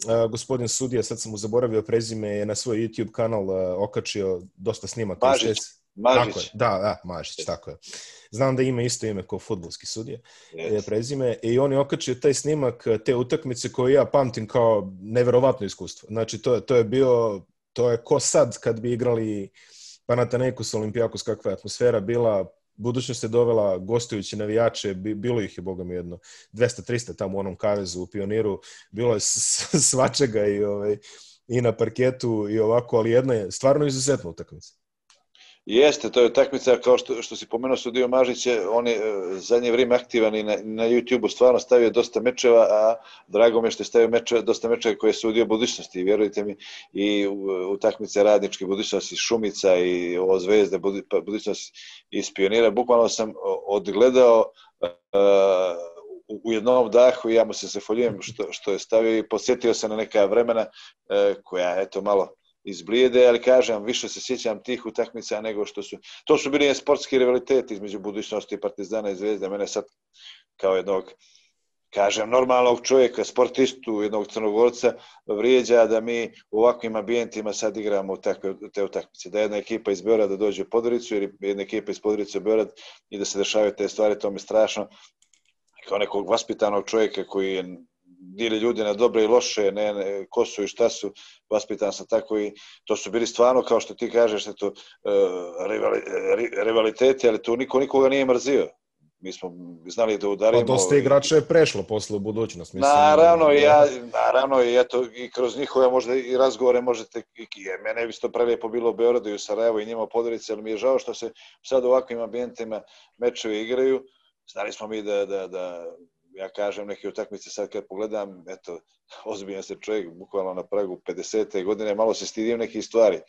Uh, gospodin sudija, sad sam mu zaboravio prezime, je na svoj YouTube kanal uh, okačio dosta snimaka. Mažić. Mažić. Tako je, da, da, Mažić, tako je. Znam da ima isto ime kao fudbalski sudija, yes. je prezime, i on je okačio taj snimak te utakmice koju ja pamtim kao neverovatno iskustvo. Znači, to, to je bio, to je ko sad kad bi igrali Panathinaikos, Olimpijakos, kakva je atmosfera bila. Budućnost je dovela gostujući navijače, bilo ih je, boga mi, jedno dvesta trista tamo u onom kavezu u Pioniru, bilo je svačega i, ovaj, i na parketu i ovako, ali jedna je stvarno izuzetna utakmica. Jeste, to je utakmica, kao što, što si pomenuo Sudio Mažić, on je zadnje vrijeme aktivan i na, na YouTube-u stvarno stavio dosta mečeva, a drago me što je stavio mečeva, dosta mečeva koje je sudio budućnosti, vjerujte mi, i utakmice radničke budućnosti Šumica i ovo Zvezde budućnosti iz Pionira. Bukvalno sam odgledao uh, u jednom dahu i ja mu se zahvaljujem što, što je stavio i podsjetio se na neka vremena uh, koja, eto, malo izblijede, ali kažem, više se sjećam tih utakmica nego što su... To su bili sportski rivaliteti između budućnosti Partizana i Zvezde. Mene sad kao jednog, kažem, normalnog čovjeka, sportistu, jednog Crnogorca, vrijeđa da mi u ovakvim ambijentima sad igramo takve, te utakmice. Da jedna ekipa iz Beograda dođe u Podgoricu ili jedna ekipa iz Podgorice u Beograd i da se dešavaju te stvari, to mi je strašno. Kao nekog vaspitanog čovjeka koji je dili ljudi na dobre i loše, ne, ne, ko su i šta su, vaspitan sam tako i to su bili stvarno, kao što ti kažeš, eto, uh, rivali, rivaliteti, ali tu niko nikoga nije mrzio. Mi smo znali da udarimo... Pa dosta igrača je prešlo posle u budućnost. Mislim, naravno, i ja, naravno, i eto, i kroz njihove možda i razgovore možete, i, i mene bi to prelijepo bilo u Beogradu i u Sarajevu i njima u Podgorici, ali mi je žao što se sad u ovakvim ambijentima mečevi igraju. Znali smo mi da, da, da ja kažem, neke utakmice sad kad pogledam, eto, ozbiljan se čovjek, bukvalno na pragu pedesete godine, malo se stidim nekih stvari,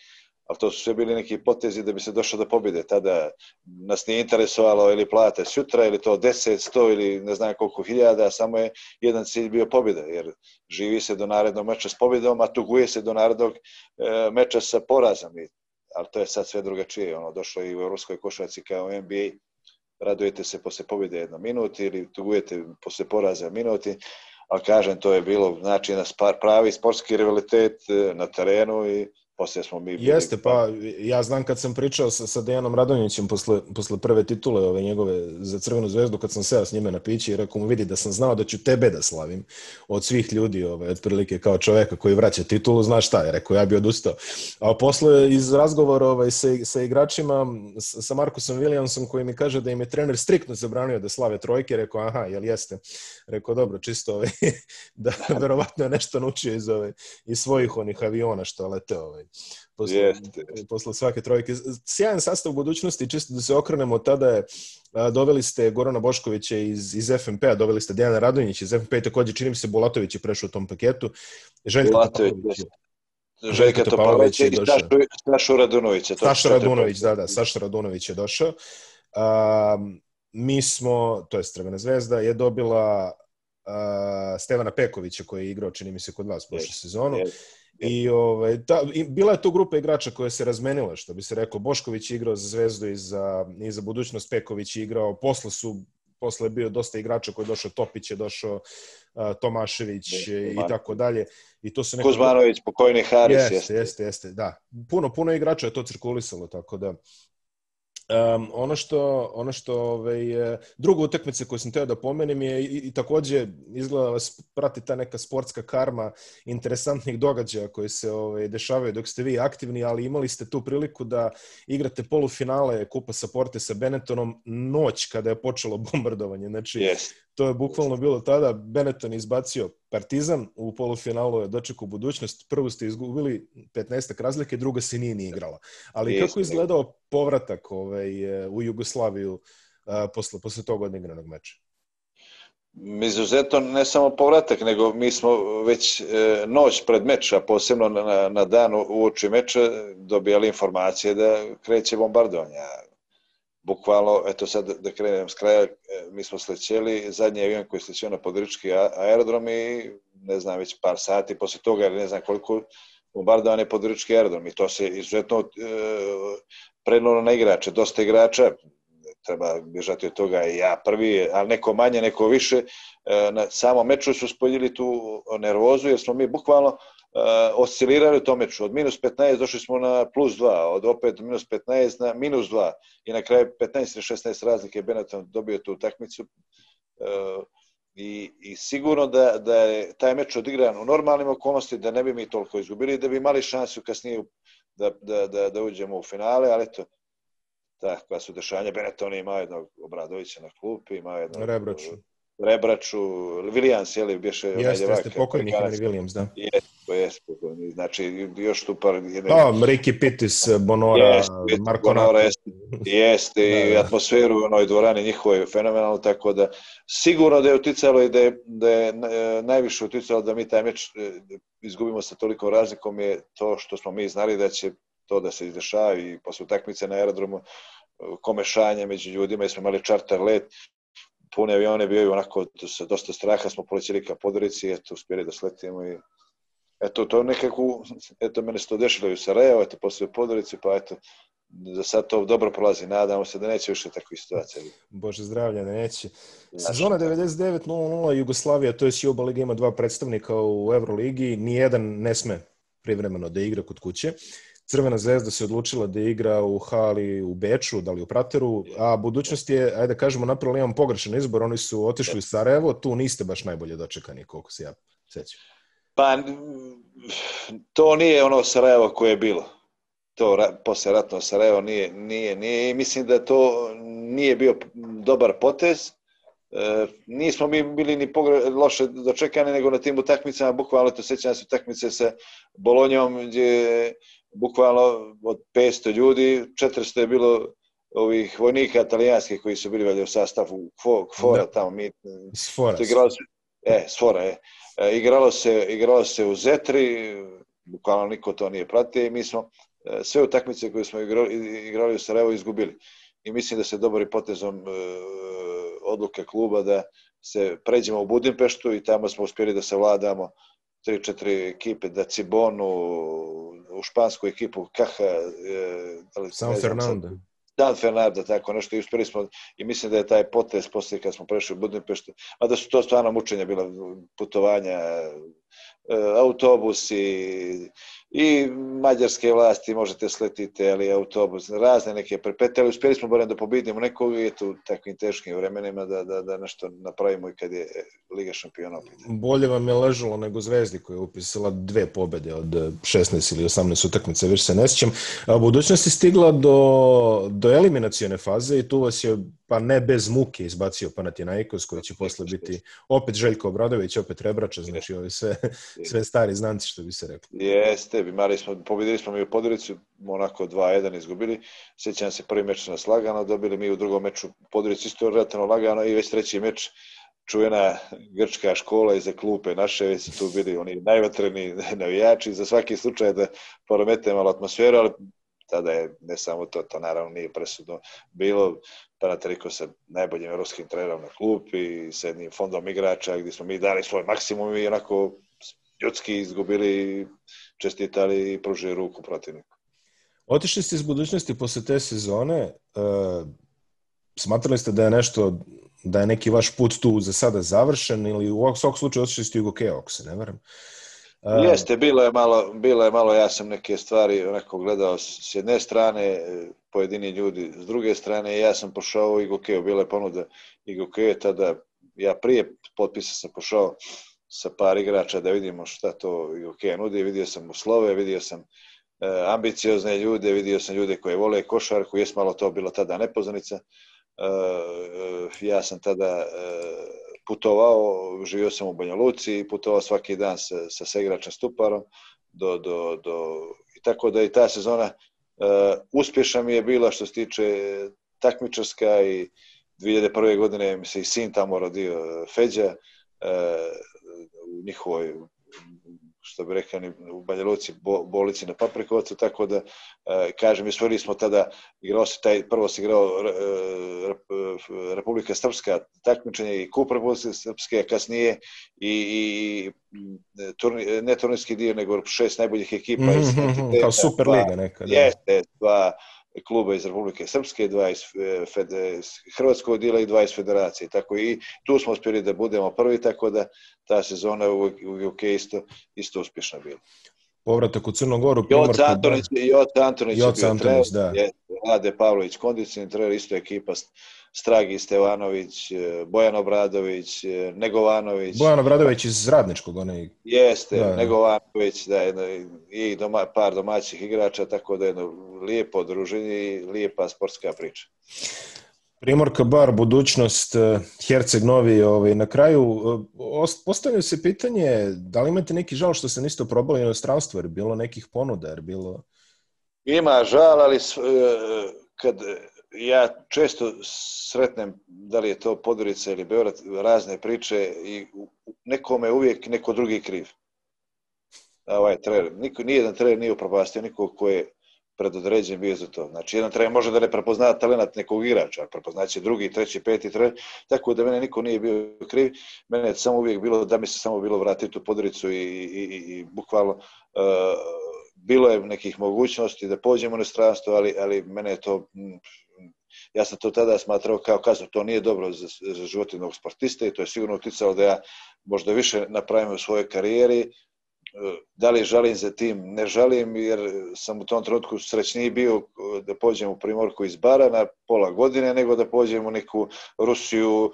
ali to su sve bili neki potezi da bi se došlo do pobjede. Tada nas nije interesovalo ili plate sutra, ili to deset, sto ili ne znam koliko hiljada, samo je jedan cilj bio pobjeda, jer živi se do narednog meča s pobjedom, a tuguje se do narednog e, meča sa porazom. I, ali to je sad sve drugačije, ono, došlo i u evropskoj košarci kao u N B A. Radujete se posle pobjede jedno minuti ili tugujete posle poraza minuti, ali kažem, to je bilo znači na pravi sportski rivalitet na terenu i poslije smo mi... Jeste, pa ja znam kad sam pričao sa, sa Dejanom Radonjićem posle, posle prve titule ove njegove za Crvenu zvezdu, kad sam seo s njime na pići i rekao mu, vidi da sam znao da ću tebe da slavim od svih ljudi, ove, otprilike kao čoveka koji vraća titulu, znaš šta je, rekao, ja bi odustao. A posle iz razgovora ovaj, sa, sa igračima, sa Markusom Williamsom koji mi kaže da im je trener striktno zabranio da slave trojke, rekao, aha, jel jeste? Rekao, dobro, čisto ovaj, da verovatno je nešto naučio iz, ovaj, iz svojih onih aviona što lete ovaj. Posle, yes. posle svake trojke. Sjajan sastav budućnosti, čisto da se okrenemo, tada je a, doveli ste Gorana Boškovića iz, iz F N P-a, doveli ste Dejana Radonjića iz F N P-a i također čini mi se Bulatović je prešao u tom paketu. Željka Topalović. Željka Topalović i Saša Radunović. Saša Radunović, da, da, Saša Radunović je došao. A, mi smo, to je Crvena zvezda, je dobila a, Stevana Pekovića koji je igrao, čini mi se, kod vas prošlu yes. sezonu. Yes. I, ovaj, ta, i bila je to grupa igrača koja se razmenila, što bi se rekao. Bošković je igrao za Zvezdu i za, i za budućnost, Peković je igrao, posle su posle je bio dosta igrača koji je došao, Topić je došao, uh, Tomašević i tako dalje. I to su neka... Kuzmanović, pokojni Haris. Jeste, jeste, jeste, jeste, da. Puno, puno igrača je to cirkulisalo, tako da Um, ono što, ono što ovaj, druga utakmica koju sam teo da pomenem je i, i također izgleda vas prati ta neka sportska karma interesantnih događaja koji se ovaj, dešavaju dok ste vi aktivni, ali imali ste tu priliku da igrate polufinale Kupa Saporte sa Benettonom noć kada je počelo bombardovanje. Znači, yes. To je bukvalno bilo tada. Benetton izbacio Partizan, u polufinalu je dočekao budućnost. Prvu ste izgubili petnaestak razlike, druga se nije ni igrala. Ali yes. Kako je izgledao povratak ovaj, u Jugoslaviju uh, posle, posle tog odigranog meča? Izuzetno ne samo povratak, nego mi smo već e, noć pred meč, a posebno na, na dan uoči meča dobijali informacije da kreće bombardovanje. Bukvalno, eto sad da krenem s kraja, mi smo slećeli, zadnji avion koji je slećio na Podgorički aerodrom i ne znam, već par sati posle toga, ne znam koliko, bombardovan je Podgorički aerodrom i to se izuzetno e, prenalo na igrače, dosta igrača, treba bježati od toga i ja prvi, ali neko manje, neko više. Na samom meču su spoljili tu nervozu jer smo mi bukvalno uh, oscilirali u tom meču. Od minus petnaest došli smo na plus dva, od opet minus petnaest na minus dva i na kraju petnaest ili šesnaest razlike Benetton dobio tu utakmicu. Uh, i, i sigurno da, da je taj meč odigran u normalnim okolnostima, da ne bi mi toliko izgubili, da bi imali šansu kasnije da, da, da, da uđemo u finale, ali eto, takva su dešanja. Benetton ima jednog Obradovića na klupi, ima jednog Rebraču. Rebraču, Williams, je li, bješe... Jeste, jeste, pokojni Henry Williams, da. Jeste, jeste, pokojni. Znači, još tu par... Jedne... Da, Ricky Pittis, Bonora, jest, Marko Bonora, Nato. jeste, jeste da, i da. Atmosferu u onoj dvorani njihove fenomenalno, tako da sigurno da je uticalo i da je, da je najviše uticalo da mi taj meč izgubimo sa tolikom razlikom je to što smo mi znali da će to da se izdešava i posle utakmice na aerodromu komešanje među ljudima, jer smo imali čarter let, pune avione, bio je onako sa dosta straha, smo polećeli ka Podgorici, eto, uspjeli da sletimo i eto, to nekako, eto, mene se to dešilo i u Sarajevo, eto, posle u Podgorici, pa eto, za sad to dobro prolazi, nadamo se da neće više takvih situacija. Bože zdravlja, da neće. Sezona devedeset devet nula nula Jugoslavija, to je Juba Liga, ima dva predstavnika u Euroligi, nijedan ne sme privremeno da igra kod kuće. Crvena zvezda se odlučila da igra u hali u Beču, da li u Prateru, a budućnost je, ajde da kažemo, napravili imam pogrešan izbor, oni su otišli u Sarajevo, tu niste baš najbolje dočekani, koliko se ja sećam. Pa, to nije ono Sarajevo koje je bilo. To posle ratno Sarajevo nije, nije, nije, mislim da to nije bio dobar potez. E, nismo mi bili ni pogre, loše dočekani, nego na tim utakmicama, bukvalno to sećam se utakmice sa Bolonjom, gdje bukvalno od petsto ljudi, četiristo je bilo ovih vojnika italijanskih koji su bili valjda u sastavu Kvora tamo. Mi, Sfora. Igralo se, e, Sfora, je. E, igralo, se, igralo se u Zetri, bukvalno niko to nije pratio i mi smo e, sve utakmice koje smo igrali, igrali u Sarajevo izgubili. I mislim da se dobrim potezom e, odluke kluba da se pređemo u Budimpeštu i tamo smo uspjeli da savladamo tri četiri ekipe, da Cibonu, u špansku ekipu Caja, e, San Fernando. San Fernando, tako nešto, i uspjeli smo, i mislim da je taj potez poslije kad smo prešli u Budimpeštu, a da su to stvarno mučenja bila, putovanja, e, autobusi i mađarske vlasti, možete sletiti, ali autobus, razne neke prepete, ali uspjeli smo barem da pobedimo nekog i eto u takvim teškim vremenima da, da, da nešto napravimo i kad je Liga šampiona opet. Bolje vam je ležalo nego Zvezdi koja je upisala dve pobede od šesnaest ili osamnaest utakmica, više se ne sjećam. A budućnost je stigla do, do eliminacione faze i tu vas je, pa ne bez muke, izbacio Panathinaikos koji će posle biti opet Željko Obradović, opet Rebrača, znači ovi sve, sve stari znanci, što bi se rekli. Jeste, imali smo, pobedili smo mi u Podgorici, onako dva jedan izgubili. Sjećam se, prvi meč nas lagano dobili, mi u drugom meču u Podgorici isto relativno lagano i već treći meč čuvena grčka škola iza klupe naše, već su tu bili oni najvatreni navijači, za svaki slučaj da poromete malo atmosferu, ali tada je ne samo to, to naravno nije presudno bilo. Panathinaikos sa najboljim evropskim trenerom na klupi, sa jednim fondom igrača gdje smo mi dali svoj maksimum i onako ljudski izgubili, čestitali i pružili ruku protivniku. Otišli ste iz budućnosti posle te sezone, e, smatrali ste da je nešto, da je neki vaš put tu za sada završen ili u svakom slučaju otišli ste u Jugoke, ako se ne varam? Jeste, bilo je malo, bilo je malo, ja sam neke stvari onako gledao s jedne strane, pojedini ljudi s druge strane, ja sam pošao u Igokeo, bila je ponuda Igokeo, tada ja prije potpisa sam pošao sa par igrača da vidimo šta to Igokeo nudi, vidio sam uslove, vidio sam e, ambiciozne ljude, vidio sam ljude koji vole košarku, jes malo to bilo tada nepoznanica, e, ja sam tada e, putovao, živio sam u Banja Luci i putovao svaki dan sa, sa saigračem Stuparom do, do, do, i tako da i ta sezona uh, uspješna mi je bila što se tiče takmičarska i dvije hiljade prve. godine mi se i sin tamo rodio, Feđa, uh, u njihovoj, što bi rekao, u Banja Luci bolnici na Paprikovcu, tako da, kažem, osvojili smo tada, igrao se taj, prvo se igrao Republika Srpska takmičenje i kup Republike Srpske, a kasnije i, i turni, ne turnirski dio, nego šest najboljih ekipa mm-hmm, iz entiteta. Kao Superliga neka. Da. Jeste, dva kluba iz Republike Srpske, dva iz, fede, iz Hrvatskog dijela i dva iz Federacije. Tako i tu smo uspjeli da budemo prvi, tako da ta sezona u, u U K isto, isto uspješna bila. Povratak u Crnu Goru. Joca Antonić, Joca Antonić je bio trener, da. je Vlade Pavlović kondicijni trener, isto ekipa Stragi Stevanović, Bojan Obradović, Negovanović. Bojan Obradović iz Radničkog, onaj. Jeste, da, Negovanović, da, jedno, i doma, par domaćih igrača, tako da jedno lijepo druženje i lijepa sportska priča. Primorka Bar, budućnost, Herceg Novi, ovaj, na kraju postavljaju se pitanje da li imate neki žal što se niste probali u inostranstvo, jer bilo nekih ponuda, jer bilo... Ima žal, ali kad ja često sretnem, da li je to Podgorica ili Beograd, razne priče i nekome uvijek neko drugi kriv. Ovaj trener, niko, nijedan trener nije upropastio nikog ko je predodređen bio za to. Znači, jedan trener može da ne prepozna talent nekog igrača, prepoznaće drugi, treći, peti trener, tako da mene niko nije bio kriv. Mene je samo uvijek bilo, da mi se samo bilo vratiti u Podgoricu i, i, i, i bukvalno uh, bilo je nekih mogućnosti da pođemo u inostranstvo, ali, ali mene je to, ja sam to tada smatrao kao kaznu, to nije dobro za, za život jednog sportiste i to je sigurno uticalo da ja možda više napravim u svojoj karijeri. Da li žalim za tim? Ne žalim, jer sam u tom trenutku srećniji bio da pođem u Primorku iz Bara na pola godine, nego da pođem u neku Rusiju,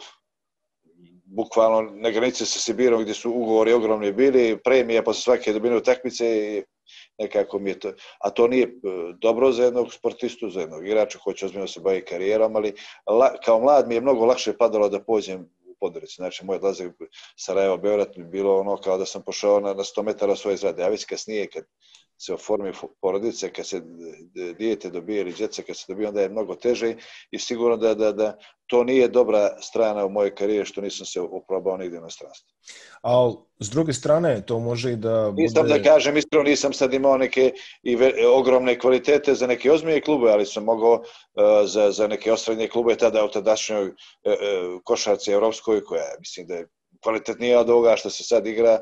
bukvalno na granici sa Sibirom gdje su ugovori ogromni bili, premije posle svake dobine utakmice i nekako mi je to. A to nije dobro za jednog sportistu, za jednog igrača koji će ozbiljno se bavi karijerom, ali la, kao mlad mi je mnogo lakše padalo da pođem Podgorici. Znači, moj odlazak Sarajevo, Beograd mi bilo ono kao da sam pošao na, na sto metara svoje zgrade. A već kasnije, kad se oformi porodice, kad se dijete dobije ili djeca, kad se dobije, onda je mnogo teže i sigurno da, da, da to nije dobra strana u mojoj karijeri što nisam se oprobao nigdje na stranstvu. Ali s druge strane, to može i da bude... Nisam da kažem, iskreno nisam sad imao neke i ve, ogromne kvalitete za neke ozbiljne klube, ali sam mogao uh, za, za neke osrednje klube tada u tadašnjoj uh, uh, košarci evropskoj, koja mislim da je kvalitetnija od ovoga što se sad igra,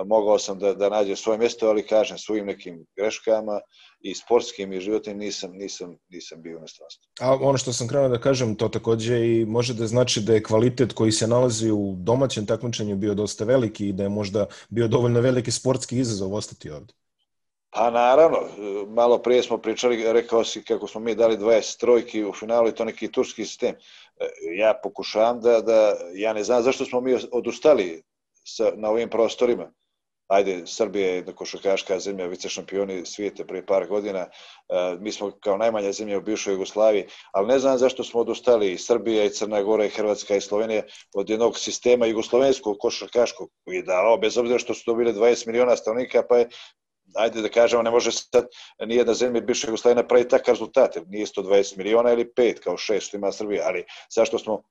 mogao sam da, da nađem svoje mjesto, ali kažem svojim nekim greškama i sportskim i životnim nisam, nisam, nisam bio u inostranstvu. A ono što sam krenuo da kažem, to također i može da znači da je kvalitet koji se nalazi u domaćem takmičenju bio dosta veliki i da je možda bio dovoljno veliki sportski izazov ostati ovdje. Pa naravno, malo prije smo pričali, rekao si kako smo mi dali dvadeset trojki u finalu i to neki turski sistem. Ja pokušavam da, da ja ne znam zašto smo mi odustali sa, na ovim prostorima. Ajde, Srbija je košarkaška zemlja, vice šampioni svijeta prije par godina, mi smo kao najmanja zemlja u bivšoj Jugoslaviji, ali ne znam zašto smo odustali i Srbija i Crna Gora i Hrvatska i Slovenija od jednog sistema jugoslovenskog košarkaškog koji je dao, bez obzira što su dobili dvadeset miliona stanovnika, pa je, ajde da kažemo, ne može sad nijedna zemlja bivše Jugoslavije napraviti takav rezultat, nije sto dvadeset miliona ili pet kao šest što ima Srbija, ali zašto smo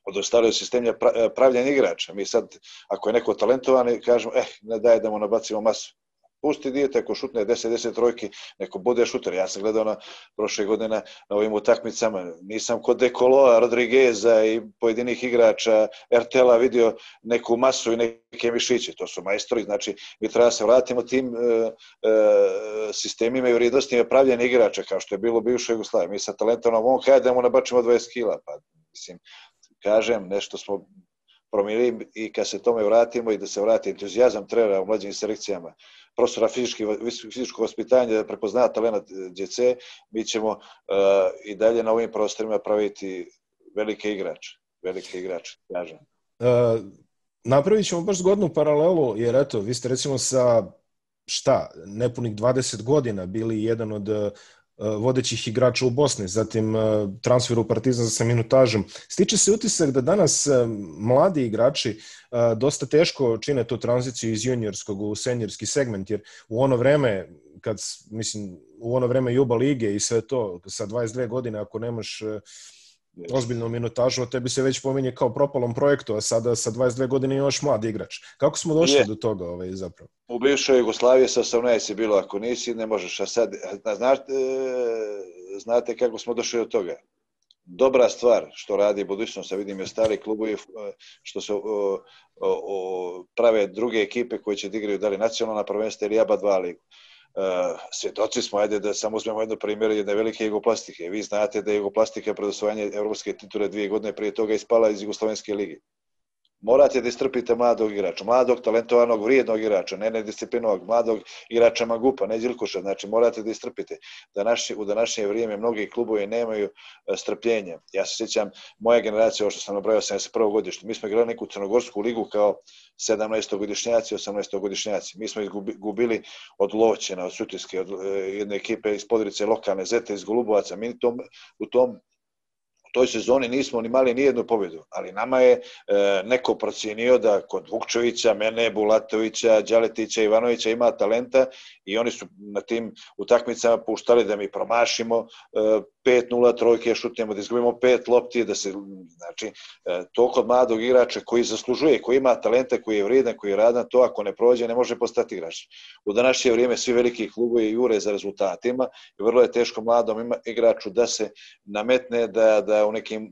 odostali od sistemlja pravljenja igrača. Mi sad, ako je neko talentovan, kažemo, eh, ne daje da mu nabacimo masu. Pusti dijete, ako šutne deset deset trojki, neko bude šuter. Ja sam gledao na prošle godine na, na ovim utakmicama, nisam kod Dekoloa, Rodrigueza i pojedinih igrača R T L-a vidio neku masu i neke mišiće. To su majstori, znači mi treba se vratimo tim e, e, sistemima i vrijednostima pravljenja igrača, kao što je bilo u bivšoj Jugoslaviji. Mi sa talentovom, on kada da mu nabačimo dvadeset kila, pa mislim, kažem, nešto smo promijenili i kad se tome vratimo i da se vrati entuzijazam trenera u mlađim selekcijama, profesora fizičkog vaspitanja da prepozna talent djece, mi ćemo uh, i dalje na ovim prostorima praviti velike igrače. Velike igrače, kažem. Uh, napravit ćemo baš zgodnu paralelu, jer eto, vi ste recimo sa šta, nepunih dvadeset godina bili jedan od uh, vodećih igrača u Bosni, zatim uh, transfer u Partizan sa minutažom. Stiče se utisak da danas uh, mladi igrači uh, dosta teško čine tu tranziciju iz juniorskog u seniorski segment, jer u ono vreme, kad, mislim, u ono vreme Juba lige i sve to, sa dvadeset dvije godine, ako nemaš uh, ozbiljnu minutažu, o tebi se već pominje kao propalom projektu, a sada sa dvadeset dvije godine još mladi igrač. Kako smo došli je. do toga ovaj, zapravo? U bivšoj Jugoslaviji sa osamnaest je bilo, ako nisi, ne možeš, a sad, znate, znate kako smo došli do toga? Dobra stvar što radi budućnost, a vidim je stari klubovi što se o, o, o, prave druge ekipe koje će da igraju da li nacionalna prvenstva ili ABA dva ligu. Uh, svjedoci smo, ajde da samo uzmemo jedno primjer jedne velike jugoplastike. Vi znate da je Jugoplastika pred osvajanje evropske titule dvije godine prije toga ispala iz Jugoslovenske lige. Morate da istrpite mladog igrača, mladog, talentovanog, vrijednog igrača, ne nedisciplinovog, mladog igrača Magupa, ne Đilkoša, znači morate da istrpite. Da naši, u današnje vrijeme mnogi klubovi nemaju strpljenja. Ja se sjećam, moja generacija, ovo što sam nabrojao, sedamdeset prvo godište, mi smo igrali neku crnogorsku ligu kao sedamnaestogodišnjaci, osamnaestogodišnjaci. Mi smo izgubili od Lovćena, od Sutiske, od jedne ekipe iz Podrice, lokalne Zete, iz Golubovaca. Mi tom, u tom U toj sezoni nismo ni mali nijednu pobjedu, ali nama je e, neko procijenio da kod Vukčevića, mene, Bulatovića, Đaletića, Ivanovića ima talenta i oni su na tim utakmicama puštali da mi promašimo e, pet nula trojke, šutnemo, da izgubimo pet lopti, da se, znači, e, to kod mladog igrača koji zaslužuje, koji ima talenta, koji je vrijedan, koji je radan, to ako ne prođe ne može postati igrač. U današnje vrijeme svi veliki klubovi jure za rezultatima i vrlo je teško mladom igraču da se nametne da, da u nekim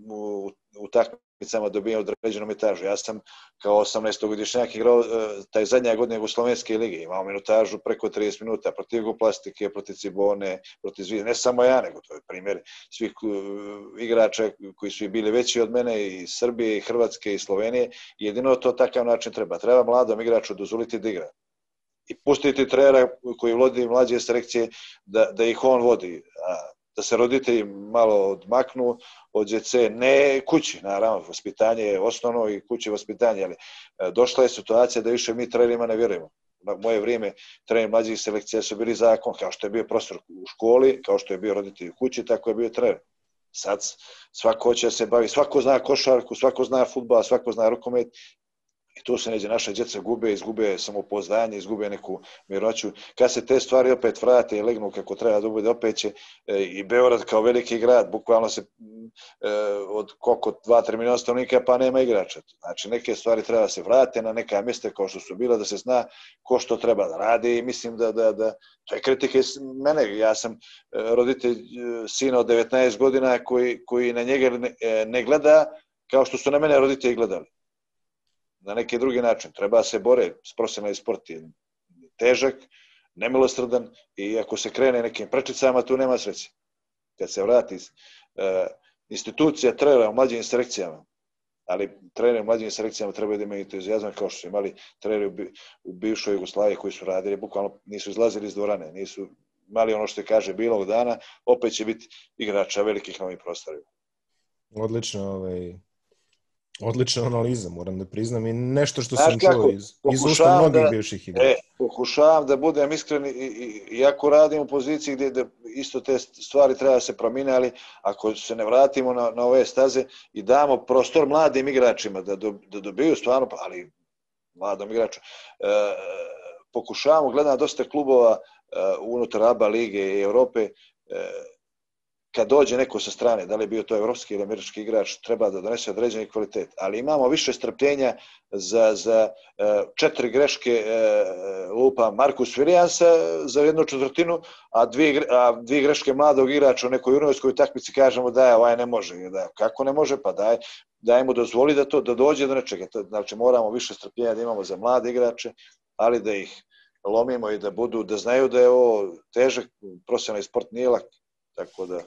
utakmicama dobije određenu minutažu. Ja sam kao osamnaestogodišnjak igrao taj zadnja godina Jugoslovenske lige, imao minutažu preko trideset minuta protiv Jugoplastike, protiv Cibone, protiv Zvijezde. Ne samo ja, nego to je primjer svih igrača koji su bili veći od mene i Srbije, i Hrvatske, i Slovenije. Jedino to takav način treba. Treba mladom igraču dozvoliti da igra. I pustiti trenera koji vodi mlađe selekcije da, da ih on vodi. A da se roditelji malo odmaknu od djece, ne kući, naravno, vaspitanje je osnovno i kući vaspitanje, ali došla je situacija da više mi trenerima ne vjerujemo. Na moje vrijeme treneri mlađih selekcija su bili zakon, kao što je bio profesor u školi, kao što je bio roditelj u kući, tako je bio trener. Sad svako hoće da se bavi, svako zna košarku, svako zna fudbal, svako zna rukomet. I tu se neđe naša djeca gube, izgube samopouzdanje, izgube neku miroću. Kad se te stvari opet vrate i legnu kako treba da bude, opet će e, i Beograd kao veliki grad, bukvalno se e, od koliko dva tri miliona stanovnika pa nema igrača. Znači neke stvari treba se vrate na neka mjesta kao što su bila, da se zna ko što treba da radi i mislim da, da, da to je kritike mene. Ja sam roditelj sina od devetnaest godina koji, koji na njega ne, ne gleda kao što su na mene roditelji gledali. Na neki drugi način. Treba se bore, profesionalni sport je težak, nemilosrdan i ako se krene nekim prečicama, tu nema sreće. Kad se vrati uh, institucija trenera u mlađim selekcijama, ali treneri u mlađim selekcijama trebaju da imaju entuzijazam kao što su imali treneri u, bi, u bivšoj Jugoslaviji koji su radili, bukvalno nisu izlazili iz dvorane, nisu imali ono što je kaže bilog dana, opet će biti igrača velikih novih prostorima. Odlično, ovaj... Odlična analiza, moram da priznam, i nešto što Znaš sam kako, čuo iz, iz usta mnogih da, bivših igrača. E, pokušavam da budem iskren, i, i, iako radim u poziciji gdje da isto te stvari treba da se promine, ali ako se ne vratimo na, na ove staze i damo prostor mladim igračima da, do, da dobiju stvarno, ali mladom igraču, e, pokušavamo, gledam dosta klubova e, unutar ABA lige i Europe, e, kad dođe neko sa strane, da li je bio to evropski ili američki igrač, treba da donese određeni kvalitet. Ali imamo više strpljenja za, za četiri greške lupa Marcus Williamsa za jednu četvrtinu, a dvije, a dvije greške mladog igrača u nekoj juniorskoj takmici kažemo da je ovaj ne može. Da, kako ne može? Pa daj, daj mu dozvoli da to da dođe do nečega. Znači moramo više strpljenja da imamo za mlade igrače, ali da ih lomimo i da budu, da znaju da je ovo težak, profesionalni sport nije lak. Tako da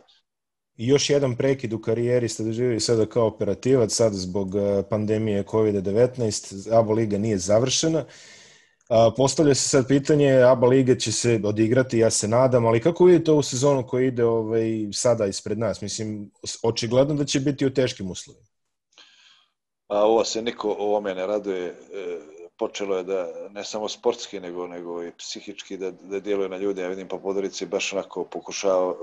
I još jedan prekid u karijeri ste doživjeli sada kao operativac, sad zbog pandemije kovid devetnaest, ABA liga nije završena. Postavlja se sad pitanje, ABA liga će se odigrati, ja se nadam, ali kako vidite ovu sezonu koja ide ovaj, sada ispred nas? Mislim, očigledno da će biti u teškim uslovima. A ovo se niko ovome ne raduje. Počelo je da ne samo sportski, nego, nego i psihički da, da djeluje na ljude. Ja vidim po Podgorici baš onako pokušava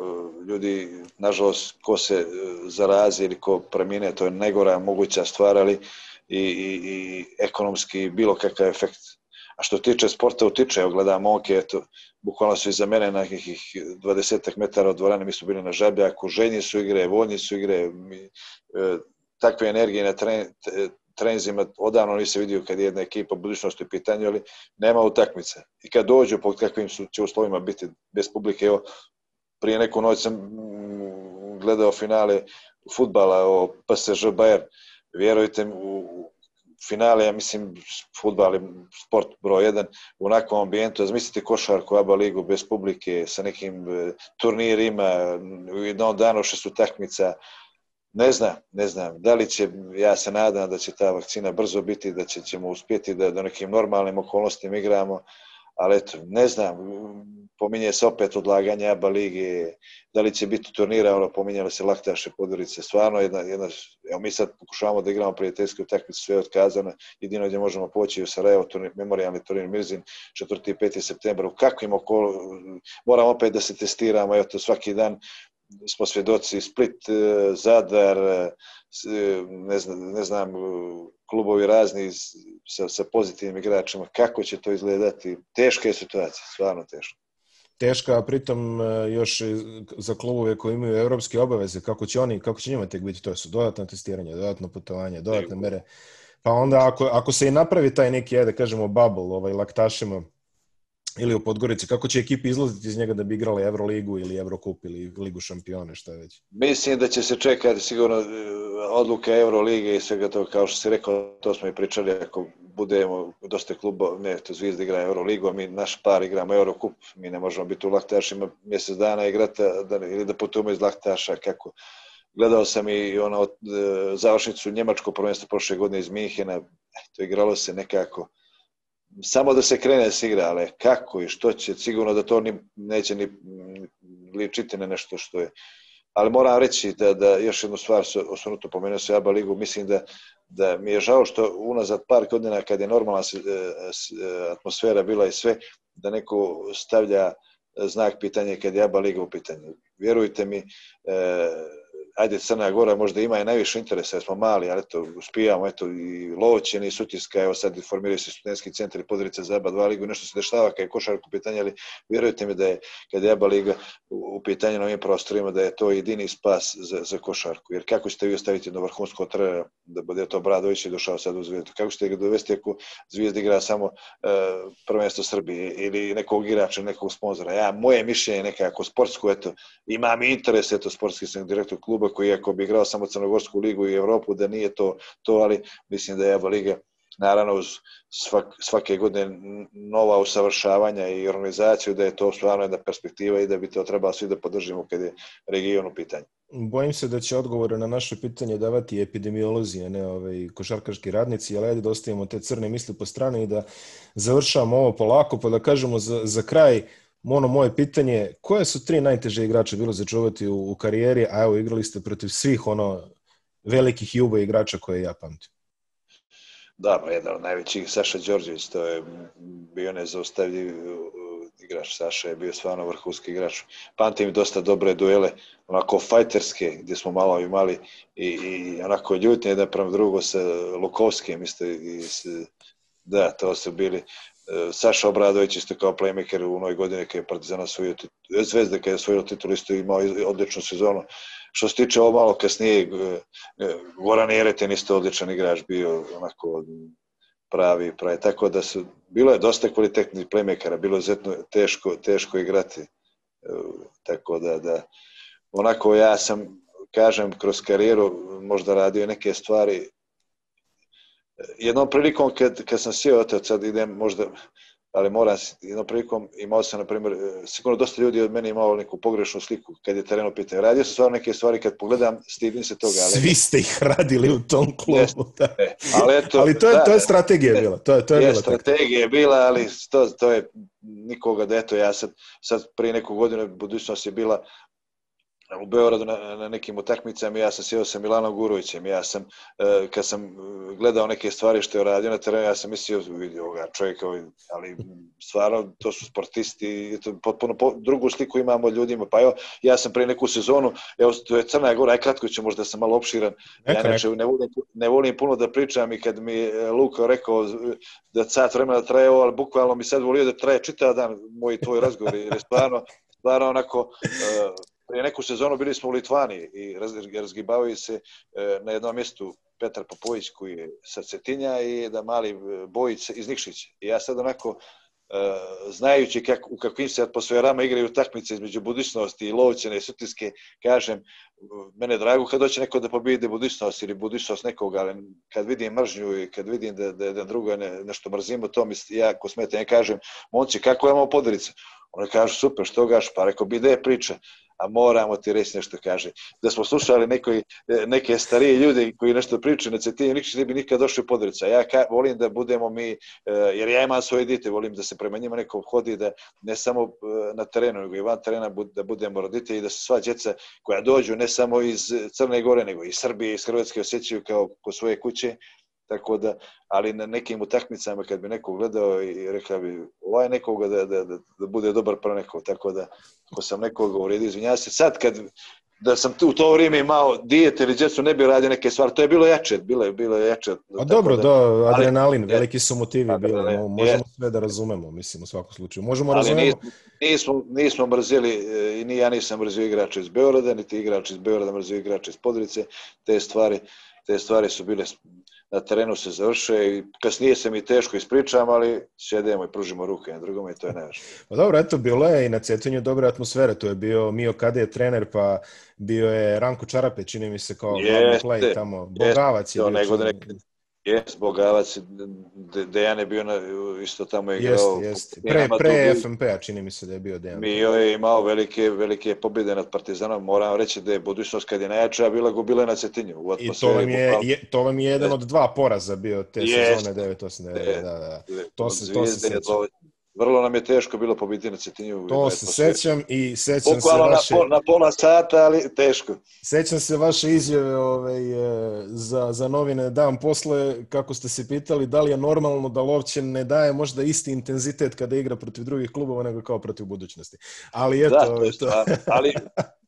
ljudi, nažalost, ko se zarazi ili ko premine, to je najgora moguća stvar, ali i, i, i ekonomski bilo kakav efekt. A što tiče sporta, utiče, evo gledam momke, eto, bukvalno su iza mene na nekih dvadesetak metara od dvorane, mi su bili na Žabljaku, ženji su igre, voljni su igre, mi, e, takve energije na tren, trenzima odavno nisam vidio kad je jedna ekipa budućnosti u pitanju, ali nema utakmice. I kad dođu, pod kakvim su, će uslovima biti bez publike, evo, prije neku noć sam gledao finale fudbala o P S Ž Bayern, vjerujte mi, u finale, ja mislim, fudbal je sport broj jedan, u onakvom ambijentu, zamislite košarku, ABA ligu bez publike, sa nekim turnirima, u jednom danu šest utakmica. Ne znam, ne znam, da li će, ja se nadam da će ta vakcina brzo biti, da će, ćemo uspjeti da do nekim normalnim okolnostima igramo, ali eto, ne znam, pominje se opet odlaganje ABA lige, da li će biti turnira, ono, pominjali se Laktaše Podgorice, stvarno jedna, jedna, evo mi sad pokušavamo da igramo prijateljske utakmice, sve je otkazano, jedino gdje možemo poći u Sarajevo, turnir, memorijalni turnir Mirzin, četvrti i peti septembar, u kakvim okolo, moramo opet da se testiramo, eto, svaki dan smo svjedoci, Split, Zadar, ne znam, ne znam klubovi razni sa, sa pozitivnim igračima, kako će to izgledati, teška je situacija, stvarno teška. Teška, a pritom još za klubove koji imaju europske obaveze, kako će oni, kako će njima tek biti, to su dodatno testiranje, dodatno putovanje, dodatne mere, pa onda ako, ako se i napravi taj neki, da kažemo, bubble, ovaj, Laktašima, ili u Podgorici, kako će ekipi izlaziti iz njega da bi igrali Euroligu ili Eurocup ili Ligu šampiona, šta već? Mislim da će se čekati sigurno odluke Eurolige i svega toga, kao što si rekao, to smo i pričali, ako budemo dosta kluba, ne, to Zvijezda igra Euroligu, a mi naš par igramo Eurocup, mi ne možemo biti u Laktašima mjesec dana igrati da, ili da putujemo iz Laktaša, kako. Gledao sam i ono, završnicu njemačko prvenstvo prošle godine iz Minhena, to igralo se nekako, samo da se krene s igra, ali kako i što će, sigurno da to ni, neće ni ličiti na nešto što je. Ali moram reći da, da još jednu stvar, osvrnuto pomenuo se ABA ligu, mislim da, da mi je žao što unazad par godina kad je normalna atmosfera bila i sve, da neko stavlja znak pitanja kad je ABA liga u pitanju. Vjerujte mi, e, ajde Crna Gora možda ima i najviše interesa, jer smo mali, ali eto, uspijamo, eto, i Lovćen i Sutjeska, evo sad formiraju se studentski centar i Podgorica za ABA dva ligu, nešto se dešava kad je košarka u pitanju, ali vjerujte mi da je, kad je ABA liga u, u pitanju na ovim prostorima, da je to jedini spas za, za košarku, jer kako ćete vi ostaviti jedno vrhunsko trenera, da bude to Bradović i došao sad u Zvijezdu, kako ćete ga dovesti ako Zvijezda igra samo uh, prvenstvo Srbije ili nekog igrača, nekog sponzora. Ja, moje mišljenje nekako sportsko, eto, imam interes, eto, sportski sam direktor kluba koji ako bi igrao samo Crnogorsku ligu i Evropu, da nije to, to ali mislim da je ABA liga, naravno uz svak, svake godine nova usavršavanja i organizaciju, da je to stvarno jedna perspektiva i da bi to trebalo svi da podržimo kad je region u pitanju. Bojim se da će odgovore na naše pitanje davati epidemiolozi, a ne ovaj, košarkaški radnici, ali ajde da ostavimo te crne misli po strani i da završamo ovo polako, pa da kažemo za, za kraj, ono moje pitanje, koje su tri najteže igrače bilo začuvati u, u karijeri, a evo igrali ste protiv svih ono velikih juba igrača koje ja pamtim? Da, pa jedan od najvećih, Saša Đorđević, to je bio nezaustavljiv igrač. Saša je bio stvarno vrhunski igrač. Pamtim dosta dobre duele, onako fajterske, gdje smo malo imali i, i onako ljutnje jedan prema drugo sa Lukovskim, isto i s, da, to su bili. Saša Obradović isto kao playmaker u onoj godini kad je Partizan osvojio titulu, Zvezda kad je osvojio titulu isto imao odličnu sezonu. Što se tiče ovo malo kasnije, Goran Jeretin isto odličan igrač bio, onako pravi, pravi. Tako da su, bilo je dosta kvalitetnih playmakera, bilo je izuzetno teško, teško igrati. Tako da, da, onako ja sam, kažem, kroz karijeru možda radio neke stvari. Jednom prilikom kad, kad sam sjeo, sad idem možda ali moram jednom prilikom, imao sam, na primjer, sigurno dosta ljudi od mene imao neku pogrešnu sliku kad je teren u pitanju. Radio sam stvarno neke stvari, kad pogledam, stidim se toga. Ali svi ste ih radili u tom klubu. Da. E, ali, eto, ali to je, da, to je strategija bila. To je, to je, je bila strategija je bila, ali to, to je nikoga da eto, ja sad, sad prije neku godinu budućnost je bila u Beogradu na, na nekim utakmicama, ja sam sjeo sa Milanom Gurovićem, ja sam, uh, kad sam gledao neke stvari što je radio na terenu, ja sam mislio, vidio ga čovjeka, ali stvarno, to su sportisti, to potpuno po, drugu sliku imamo ljudima, pa evo, ja sam prije neku sezonu, evo, to je Crna Gora, aj kratko ću, možda sam malo opširan, neka, ja neče, ne, volim, ne volim puno da pričam i kad mi Luka rekao da sat vremena traje ovo, ali bukvalno mi sad volio da traje čitav dan moj tvoj razgovor, jer je stvarno, stvarno onako, uh, prije neku sezonu bili smo u Litvani i razgibavaju se na jednom mjestu Petar Popović koji je sa Cetinja i da mali Bojić iz Nikšića. I ja sad onako, znajući kak, u kakvim se atmosferama igraju utakmice između Budućnosti i Lovćene i Sutjeske, kažem, mene je drago kad doće neko da pobijede Budućnost ili Budućnost nekoga, ali kad vidim mržnju i kad vidim da, da, da drugo ne, nešto mrzimo, to mi ja ko smeta, ja kažem, momci, kako imamo Podgorica? Oni kažu, super, što gaš? Pa rekao, bi da je priča. A moramo ti reći nešto, kaže. Da smo slušali nekoj, neke starije ljude koji nešto pričaju na Cetinju, nikad ne bi nikad došli u Podgorica. Ja ka, volim da budemo mi, jer ja imam svoje dite, volim da se prema njima neko hodi, da ne samo na terenu, nego i van terena da budemo roditelji i da se sva djeca koja dođu, ne samo iz Crne Gore, nego iz Srbije, iz Hrvatske osjećaju kao kod svoje kuće. Tako da, ali na nekim utakmicama kad bi neko gledao i rekao bi ovaj nekoga da, da, da, da bude dobar pro nekog, tako da ako sam nekoga uvrijedio, izvinjavam se, sad kad da sam u to vrijeme imao dijete ili djecu ne bi radio neke stvari, to je bilo jače, bilo je, bilo je jače. A dobro, da, do, adrenalin, ali, veliki su motivi bili, no, možemo je, sve da razumemo, mislim, u svakom slučaju. Možemo ali razumemo. Nismo, nismo, nismo mrzili, i ni ja nisam mrzio igrača iz Beograda, niti igrač iz Beograda mrzio igrača iz Podgorice, te stvari, te stvari su bile na terenu se završe i kasnije se mi teško ispričam, ali sjedemo i pružimo ruke na drugome i to je nešto. Pa dobro, eto, bilo je i na Cetinju dobra atmosfera, tu je bio Mio Kade trener, pa bio je Ranko Čarape, čini mi se kao glavni play tamo, Bogavac je bio. Jes, Bogavac, Dejan je bio na, isto tamo igrao. Jeste, jeste. Pre, pre F M P-a čini mi se da je bio Dejan. Mio je imao velike, velike pobjede nad Partizanom, moram reći da je Budućnost kad je najjača bila gubila na Cetinju. I to vam, je, je, to vam je jedan od dva poraza bio te jest, sezone devet osam devet. Da, da. To se, to se sjećam. Vrlo nam je teško bilo pobiti na Cetinju. To se sećam i sećam se vaše... na, pol, na pola sata, ali teško. Sećam se vaše izjave ovaj, za, za novine dan posle, kako ste se pitali da li je normalno da Lovćen ne daje možda isti intenzitet kada igra protiv drugih klubova nego kao protiv Budućnosti. Ali eto... Da, to je to... ali...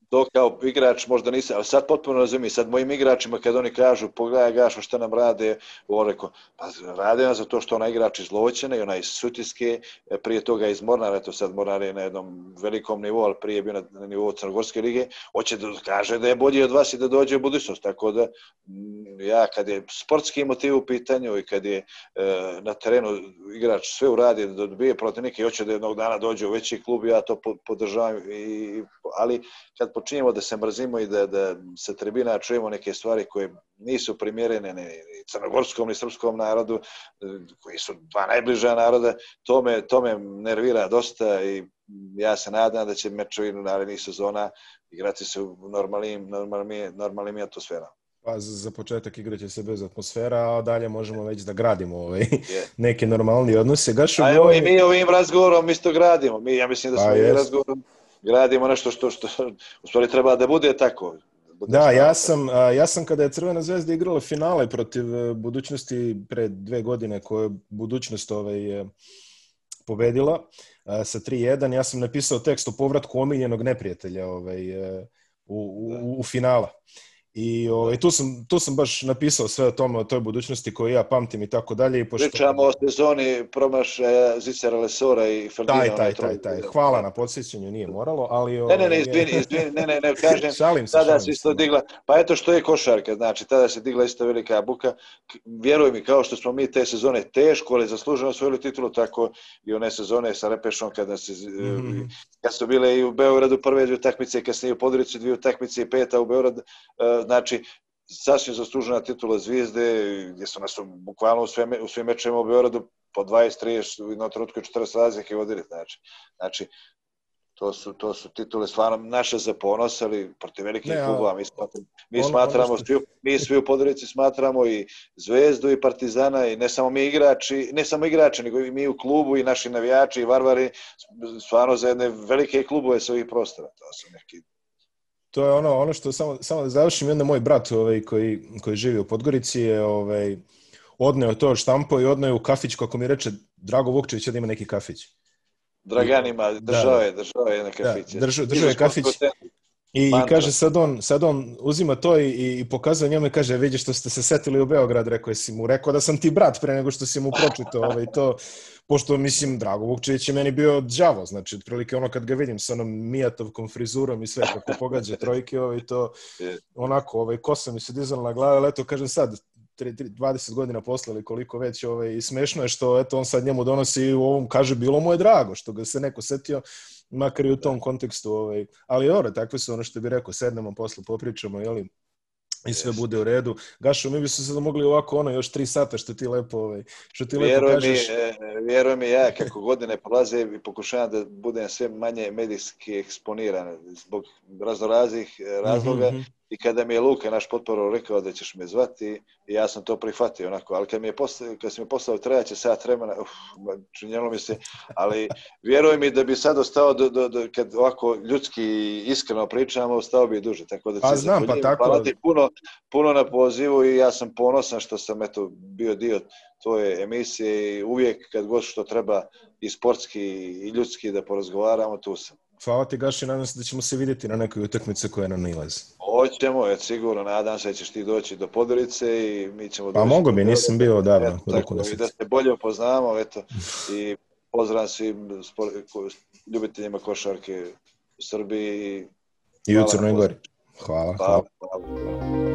To kao igrač možda nisam, ali sad potpuno razumijem, sad mojim igračima kad oni kažu pogledaj Gašo šta nam rade, on rekao, pa rade nam za to što onaj igrač iz Lovćene i onaj iz Sutjeske, prije toga iz Mornara, to sad Mornar je na jednom velikom nivou, ali prije je bio na, na nivou Crnogorske lige, hoće da kaže da je bolji od vas i da dođe u Budućnost, tako da ja kad je sportski motiv u pitanju i kad je e, na terenu igrač sve uradi da dobije protiv neke i hoće da jednog dana dođe u veći klub, ja to podržavam, i, ali kad počinjemo da se mrzimo i da, da sa tribina čujemo neke stvari koje nisu primjerene ni crnogorskom ni srpskom narodu, koji su dva najbliža naroda, to me, to me nervira dosta i ja se nadam da će mečevi narednih sezona igrati se u normalnim, normalnim, normalnim atmosferama. Pa za početak igrat će se bez atmosfera, a dalje možemo već da gradimo ovaj, yeah. neke normalni odnose. Gašu, a evo i mi ovim razgovorom isto gradimo. Mi, ja mislim da smo ovim razgovorom gradimo nešto što, što u stvari treba da bude tako. Da, da ja sam, ja sam kada je Crvena zvezda igrala finale protiv Budućnosti pre dve godine koje je Budućnost ovaj, pobedila sa tri jedan, ja sam napisao tekst o povratku omiljenog neprijatelja ovaj, u, u, u finala. I ovaj, tu, sam, tu sam baš napisao sve o tome, o toj Budućnosti koju ja pamtim i tako dalje. I pošto... Pričamo o sezoni promašaja Zicera Lesora i Ferdina. Taj, taj, taj, taj. Hvala na podsjećanju, nije moralo, ali... Ovaj... Ne, ne, ne, izvini, izvini, ne, ne, ne, kažem, šalim se, tada šalim se isto se. digla, pa eto što je košarka, znači, tada se digla isto velika buka. Vjeruj mi, kao što smo mi te sezone teško, ali zasluženo osvojili titulu, tako i one sezone sa Repešom, kada se, mm-hmm. kad su bile i u Beogradu prve dvije utakmice, kasnije u Podgorici dvije utakmice i peta u Beogradu, znači, sasvim zaslužena titula Zvijezde, gdje su nas bukvalno u svim, u svim mečevima u Beogradu po dvadeset trideset u jednom trenutku četrdeset razlike vodili. Znači, znači to su, to su titule stvarno naše za ponos, ali protiv velikih klubova. Mi, smatramo, mi, ono, smatramo ono što... svi, mi svi u Podgorici smatramo i Zvezdu i Partizana i ne samo mi igrači, ne samo igrači, nego i mi u klubu i naši navijači i Varvari, stvarno za jedne velike klubove sa ovih prostora. To su neki... To je ono, ono što samo, samo da završim, jedan moj brat ovaj, koji, koji živi u Podgorici je ovaj, odneo to štampo i odneo u kafić, kako mi reče Drago Vukčević da ima neki kafić. Draganima, držao je, držao je na kafiće. Da, držao, držao je kafić i, i kaže sad on, sad on uzima to i, i pokazuje njome, kaže, vidi što ste se setili u Beograd, rekao je si mu, rekao da sam ti brat pre nego što si mu pročitao ovaj, to, pošto mislim, Drago Vukčević je meni bio đavo, znači, otprilike ono kad ga vidim sa onom Mijatovkom frizurom i sve kako pogađa trojke, ovaj, to onako, ovaj, kosa mi se dizala na glavu, ali eto, kažem sad, dvadeset godina posle ili koliko već, ovaj, i smešno je što eto, on sad njemu donosi u ovom, kaže, bilo mu je drago što ga se neko setio, makar i u tom kontekstu, ovaj, ali dobro, takve su ono što bi rekao, sednemo posle, popričamo, jeli, i sve bude u redu. Gašo, mi bi se sad mogli ovako ono još tri sata što ti lepo, ovaj, što ti lepo kažeš. Mi, vjeruj mi, ja kako godine prolaze i pokušavam da budem sve manje medijski eksponiran zbog raznoraznih razloga. Mm-hmm. I kada mi je Luka, naš potporov, rekao da ćeš me zvati, ja sam to prihvatio onako, ali kad mi je poslao, kad si mi poslao trebaće sat vremena, uf, činjelo mi se, ali vjeruj mi da bi sad ostao, do, do, do, kad ovako ljudski iskreno pričamo, ostao bi duže, tako da pa znam, pa tako. Puno, puno na pozivu i ja sam ponosan što sam eto, bio dio tvoje emisije i uvijek kad god što treba i sportski i ljudski da porazgovaramo, tu sam. Hvala ti, Gaši, nadam se da ćemo se vidjeti na nekoj utakmici koja nam nailazi. Hoćemo, je sigurno, nadam se da ćeš ti doći do Podgorice i mi ćemo pa doći. Pa mogu bi, nisam bio odavno. Tako, i da se bolje upoznamo, eto, i pozdrav svim spor, ljubiteljima košarke u Srbiji. I u Crnoj Gori. Hvala, hvala. hvala. hvala.